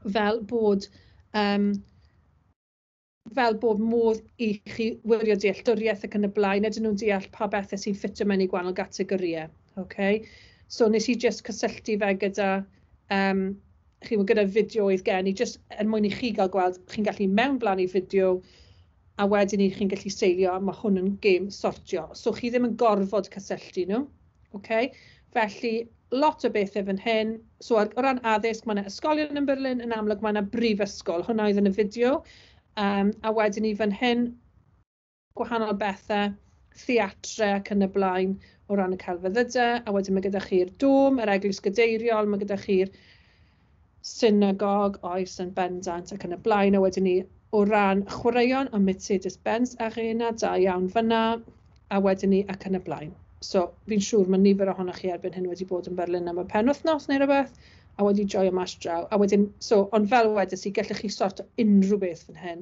fel bod... Um, fel bod modd i chi wirio dealltwriaeth ac yn y blaen, ydyn nhw'n deall pa bethau sy'n ffitio mewn i gwahanol gategorïau. Okay? So nes i just cysylltu fe gyda, um, chi, gyda fideo oedd gen i, just er mwyn i chi gael gweld, chi'n gallu mewnblannu fideo, a wedyn i chi'n gallu seilio, a mae hwn yn gêm sortio. So chi ddim yn gorfod cysylltu nhw. Okay? Felly, lot o bethau fan hyn. So ar, o ran addysg, mae yna ysgolion yn Berlin, yn amlwg mae yna brifysgol. Hwnna oedd yn y fideo. Um, a wedyn ni fan hyn, gwahanol bethau, theatre ac yn y blaen o ran y celfyddydau. A wedyn mae gyda chi'r dôm, yr eglwys gadeiriol, mae gyda chi'r synagog, oes yn bendant ac yn y blaen. A wedyn ni o ran chwaraeon, y Mercedes-Benz Arena, da iawn fyna, a wedyn ni ac yn y blaen. So fi'n siŵr mae nifer ohonoch chi erbyn hyn wedi bod yn Berlin am y penwythnos neu rhywbeth, a wedi joio mas draw. A wedyn, so, ond fel wedes i, gallech chi sorto unrhyw beth fan hyn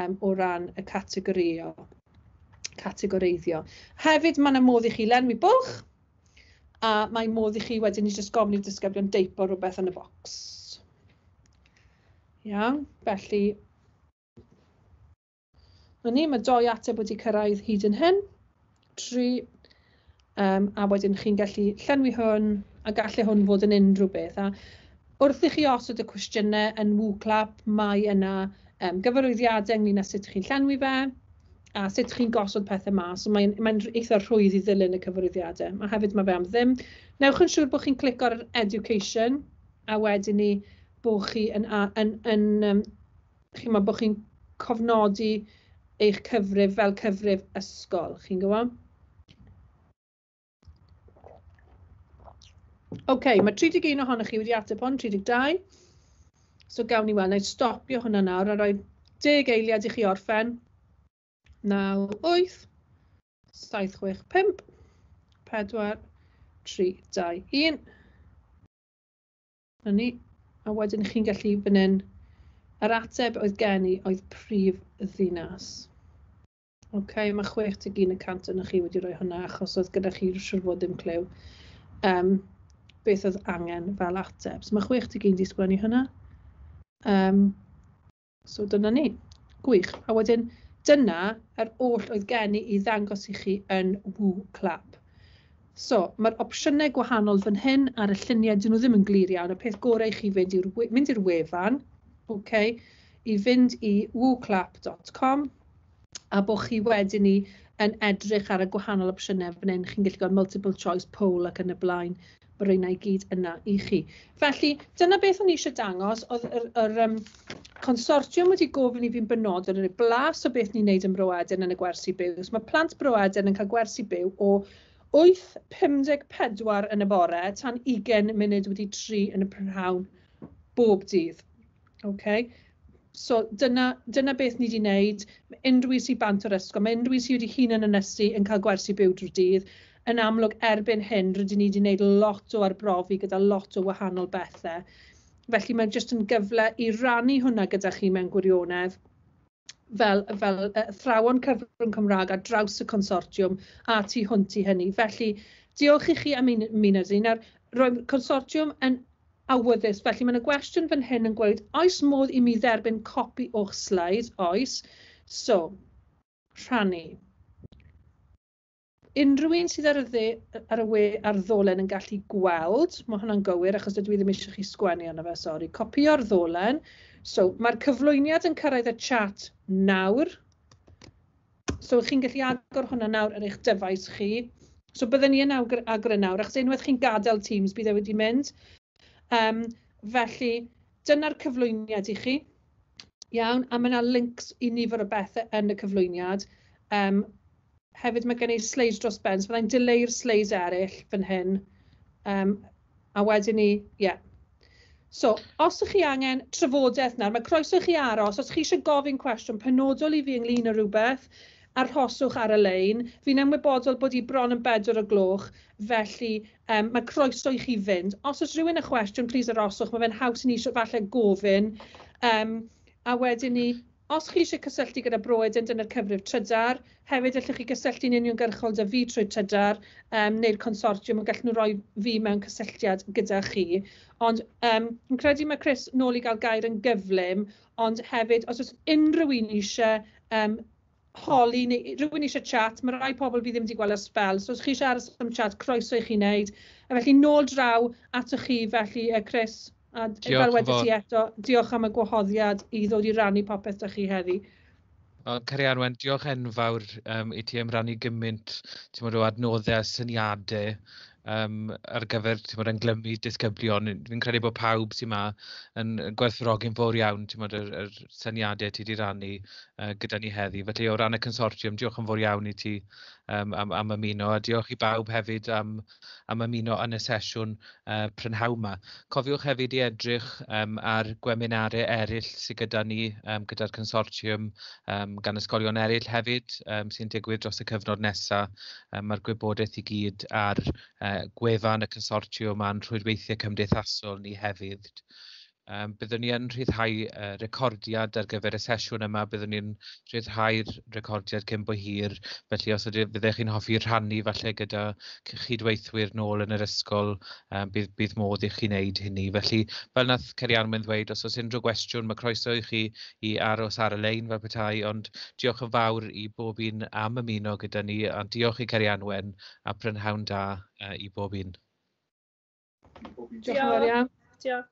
um, o ran y categorio, categoreiddio. Hefyd, mae yna modd i chi lenwi bwlch, a mae modd i chi wedyn i jyst gofyn i'r disgyblion deipo rhywbeth yn y bocs. Iawn, felly, na ni, mae doi ateb wedi cyrraedd hyd yn hyn. Tri, um, a wedyn chi'n gallu llenwi hwn, a gallai hwn fod yn unrhyw beth. A wrth i chi osod y cwestiynau yn WooClap, mae yna um, gyfarwyddiadau ynglyn â sut chi'n llenwi fe, a sut chi'n gosod pethau mas. So mae'n mae eitha rhwydd i ddilyn y cyfarwyddiadau. A hefyd mae fe am ddim. Newch yn siŵr bod chi'n clicio ar Education, a wedyn ni bod chi yn, yn, yn, yn chi'n bod chi'n cofnodi eich cyfrif fel cyfrif ysgol. Chi'n gwybod? OK, mae tri deg un ohonoch chi wedi ateb hwn, tri deg dau. So gawn ni weld, na i stopio hwnna nawr a rhoi deg eiliad i chi orffen. naw, wyth, saith, chwech, pump, pedwar, tri, dau, un. Na ni. A wedyn chi'n gallu fan hyn, yr ateb oedd gen i oedd prif ddinas. OK, mae chwech deg un y cant yna chi wedi rhoi hwnna achos oedd gyda chi siŵr fod ddim clyw um, beth oedd angen fel ateb. So mae chwech deg un wedi sgwennu hwnna. Um, so dyna ni. Gwych. A wedyn dyna yr oll oedd gen i i ddangos i chi yn WooClap. So, mae'r opsiynau gwahanol fan hyn ar y lluniau, dyn nhw ddim yn glir iawn. Y peth gorau i chi fynd i'r mynd i'r wefan, okay, i fynd i wooclap dot com, a bod chi wedyn ni yn edrych ar y gwahanol opsiynau fan hyn. Chi'n gallu gweld multiple choice, poll ac yn y blaen. Mae rheina i gyd yna i chi. Felly, dyna beth o'n i eisiau dangos. Oedd yr, yr um, consortiwm wedi gofyn i fi'n benodol yn y blas o beth ni'n neud ym Mro Edern yn y gwersi byw. So, mae plant Bro Edern yn cael gwersi byw o wyth pum deg pedwar yn y bore tan ugain munud wedi tri yn y prynhawn bob dydd. Okay. So dyna, dyna beth ni wedi wneud. Mae unrhyw un sy'n bant o'r ysgol, mae unrhyw un sydd wedi hunan ynysu yn cael gwersi byw drwy'r dydd. Yn amlwg erbyn hyn, rydyn ni wedi wneud lot o arbrofi gyda lot o wahanol bethau. Felly mae jyst yn gyfle i rannu hwnna gyda chi mewn gwirionedd fel, fel athrawon cyfrwng Cymraeg ar draws y consortiwm a tu hwnt i hynny. Felly diolch i chi am ymuno â ni. Nawr, roedd consortiwm yn awyddus, felly mae yna gwestiwn fan hyn yn gweud, oes modd i mi dderbyn copi o'ch slides? Oes. So, rhannu. Unrhyw un sydd ar y, dde, ar y we ar ddolen yn gallu gweld, mae hwnna'n gywir achos dydw i ddim eisiau chi sgwennu arno fe, sori, copio'r ddolen. So, mae'r cyflwyniad yn cyrraedd y chat nawr. So, chi'n gallu agor hwnna nawr ar eich dyfais chi. So, byddwn ni yn agor e nawr, achos unwaith chi'n gadael Teams, bydd e wedi mynd. Um, felly, dyna'r cyflwyniad i chi. Iawn, a mae yna links i nifer o bethau yn y cyflwyniad. Um, Hefyd mae gen i slides dros ben, so byddai'n dileu'r slides eraill fan hyn. Um, a wedyn ni, ie. Yeah. So, os ydych chi angen trafodaeth nawr, mae croeso i chi aros. Os chi eisiau gofyn cwestiwn penodol i fi ynglyn â rhywbeth, arhoswch ar y lein. Fi'n ymwybodol bod hi bron yn bedwar o gloch, felly um, mae croeso i chi fynd. Os oes rhywun â chwestiwn, please arhoswch. Mae fe'n haws i ni eisiau falle gofyn. Um, a wedyn ni, os chi eisiau cysylltu gyda Bro Edern, dyna'r cyfrif Trydar. Hefyd, allwch chi gysylltu'n uniongyrchol â fi trwy Trydar um, neu'r consortiwm, a gallen nhw roi fi mewn cysylltiad gyda chi. Ond um, fi'n credu mae Chris nôl i gael gair yn gyflym, ond hefyd, os oes unrhyw un eisiau um, holi neu rhywun eisiau chat, mae rai pobl fi ddim wedi gweld ers sbel, so os chi eisiau aros am chat, croeso i chi wneud. A felly, nôl draw atoch chi, felly, uh, Chris. A fel wedes i eto, diolch am y gwahoddiad i ddod i rannu popeth da chi heddi. Cerianwen, diolch enfawr um, i ti am rannu gymaint ti'n o adnoddau a syniadau um, ar gyfer ti'n bod, englymu disgyblion. Fi'n credu bod pawb sy'n ma yn gwerthfawrogi'n fawr iawn ti'n bod, yr, yr syniadau ti wedi rannu uh, gyda ni heddi. Felly o ran y consortiwm, diolch yn fawr iawn i ti um, am, am ymuno, a diolch i bawb hefyd am, am ymuno yn y sesiwn uh, prynhawn 'ma. Cofiwch hefyd i edrych um, ar gweminarau eraill sydd gyda ni, um, gyda'r consortiwm, um, gan ysgolion eraill hefyd um, sy'n digwydd dros y cyfnod nesaf. Um, mae'r gwybodaeth i gyd ar uh, gwefan y consortiwm a'n rhwydweithiau cymdeithasol ni hefyd. Um, byddwn ni yn rhyddhau uh, recordiad ar gyfer y sesiwn yma, byddwn ni'n rhyddhau'r recordiad cyn bo hir, felly os ydych, fyddech chi'n hoffi rhannu falle gyda chydweithwyr nôl yn yr ysgol, um, bydd, bydd modd i chi wneud hynny. Felly, fel nath Cerianwen ddweud, os oes unrhyw gwestiwn, mae croeso i chi i aros ar y lein fel petai, ond diolch yn fawr i bob un am ymuno gyda ni, a diolch i Cerianwen a prynhawn da uh, i bob un. Diolch yn fawr iawn. Diolch.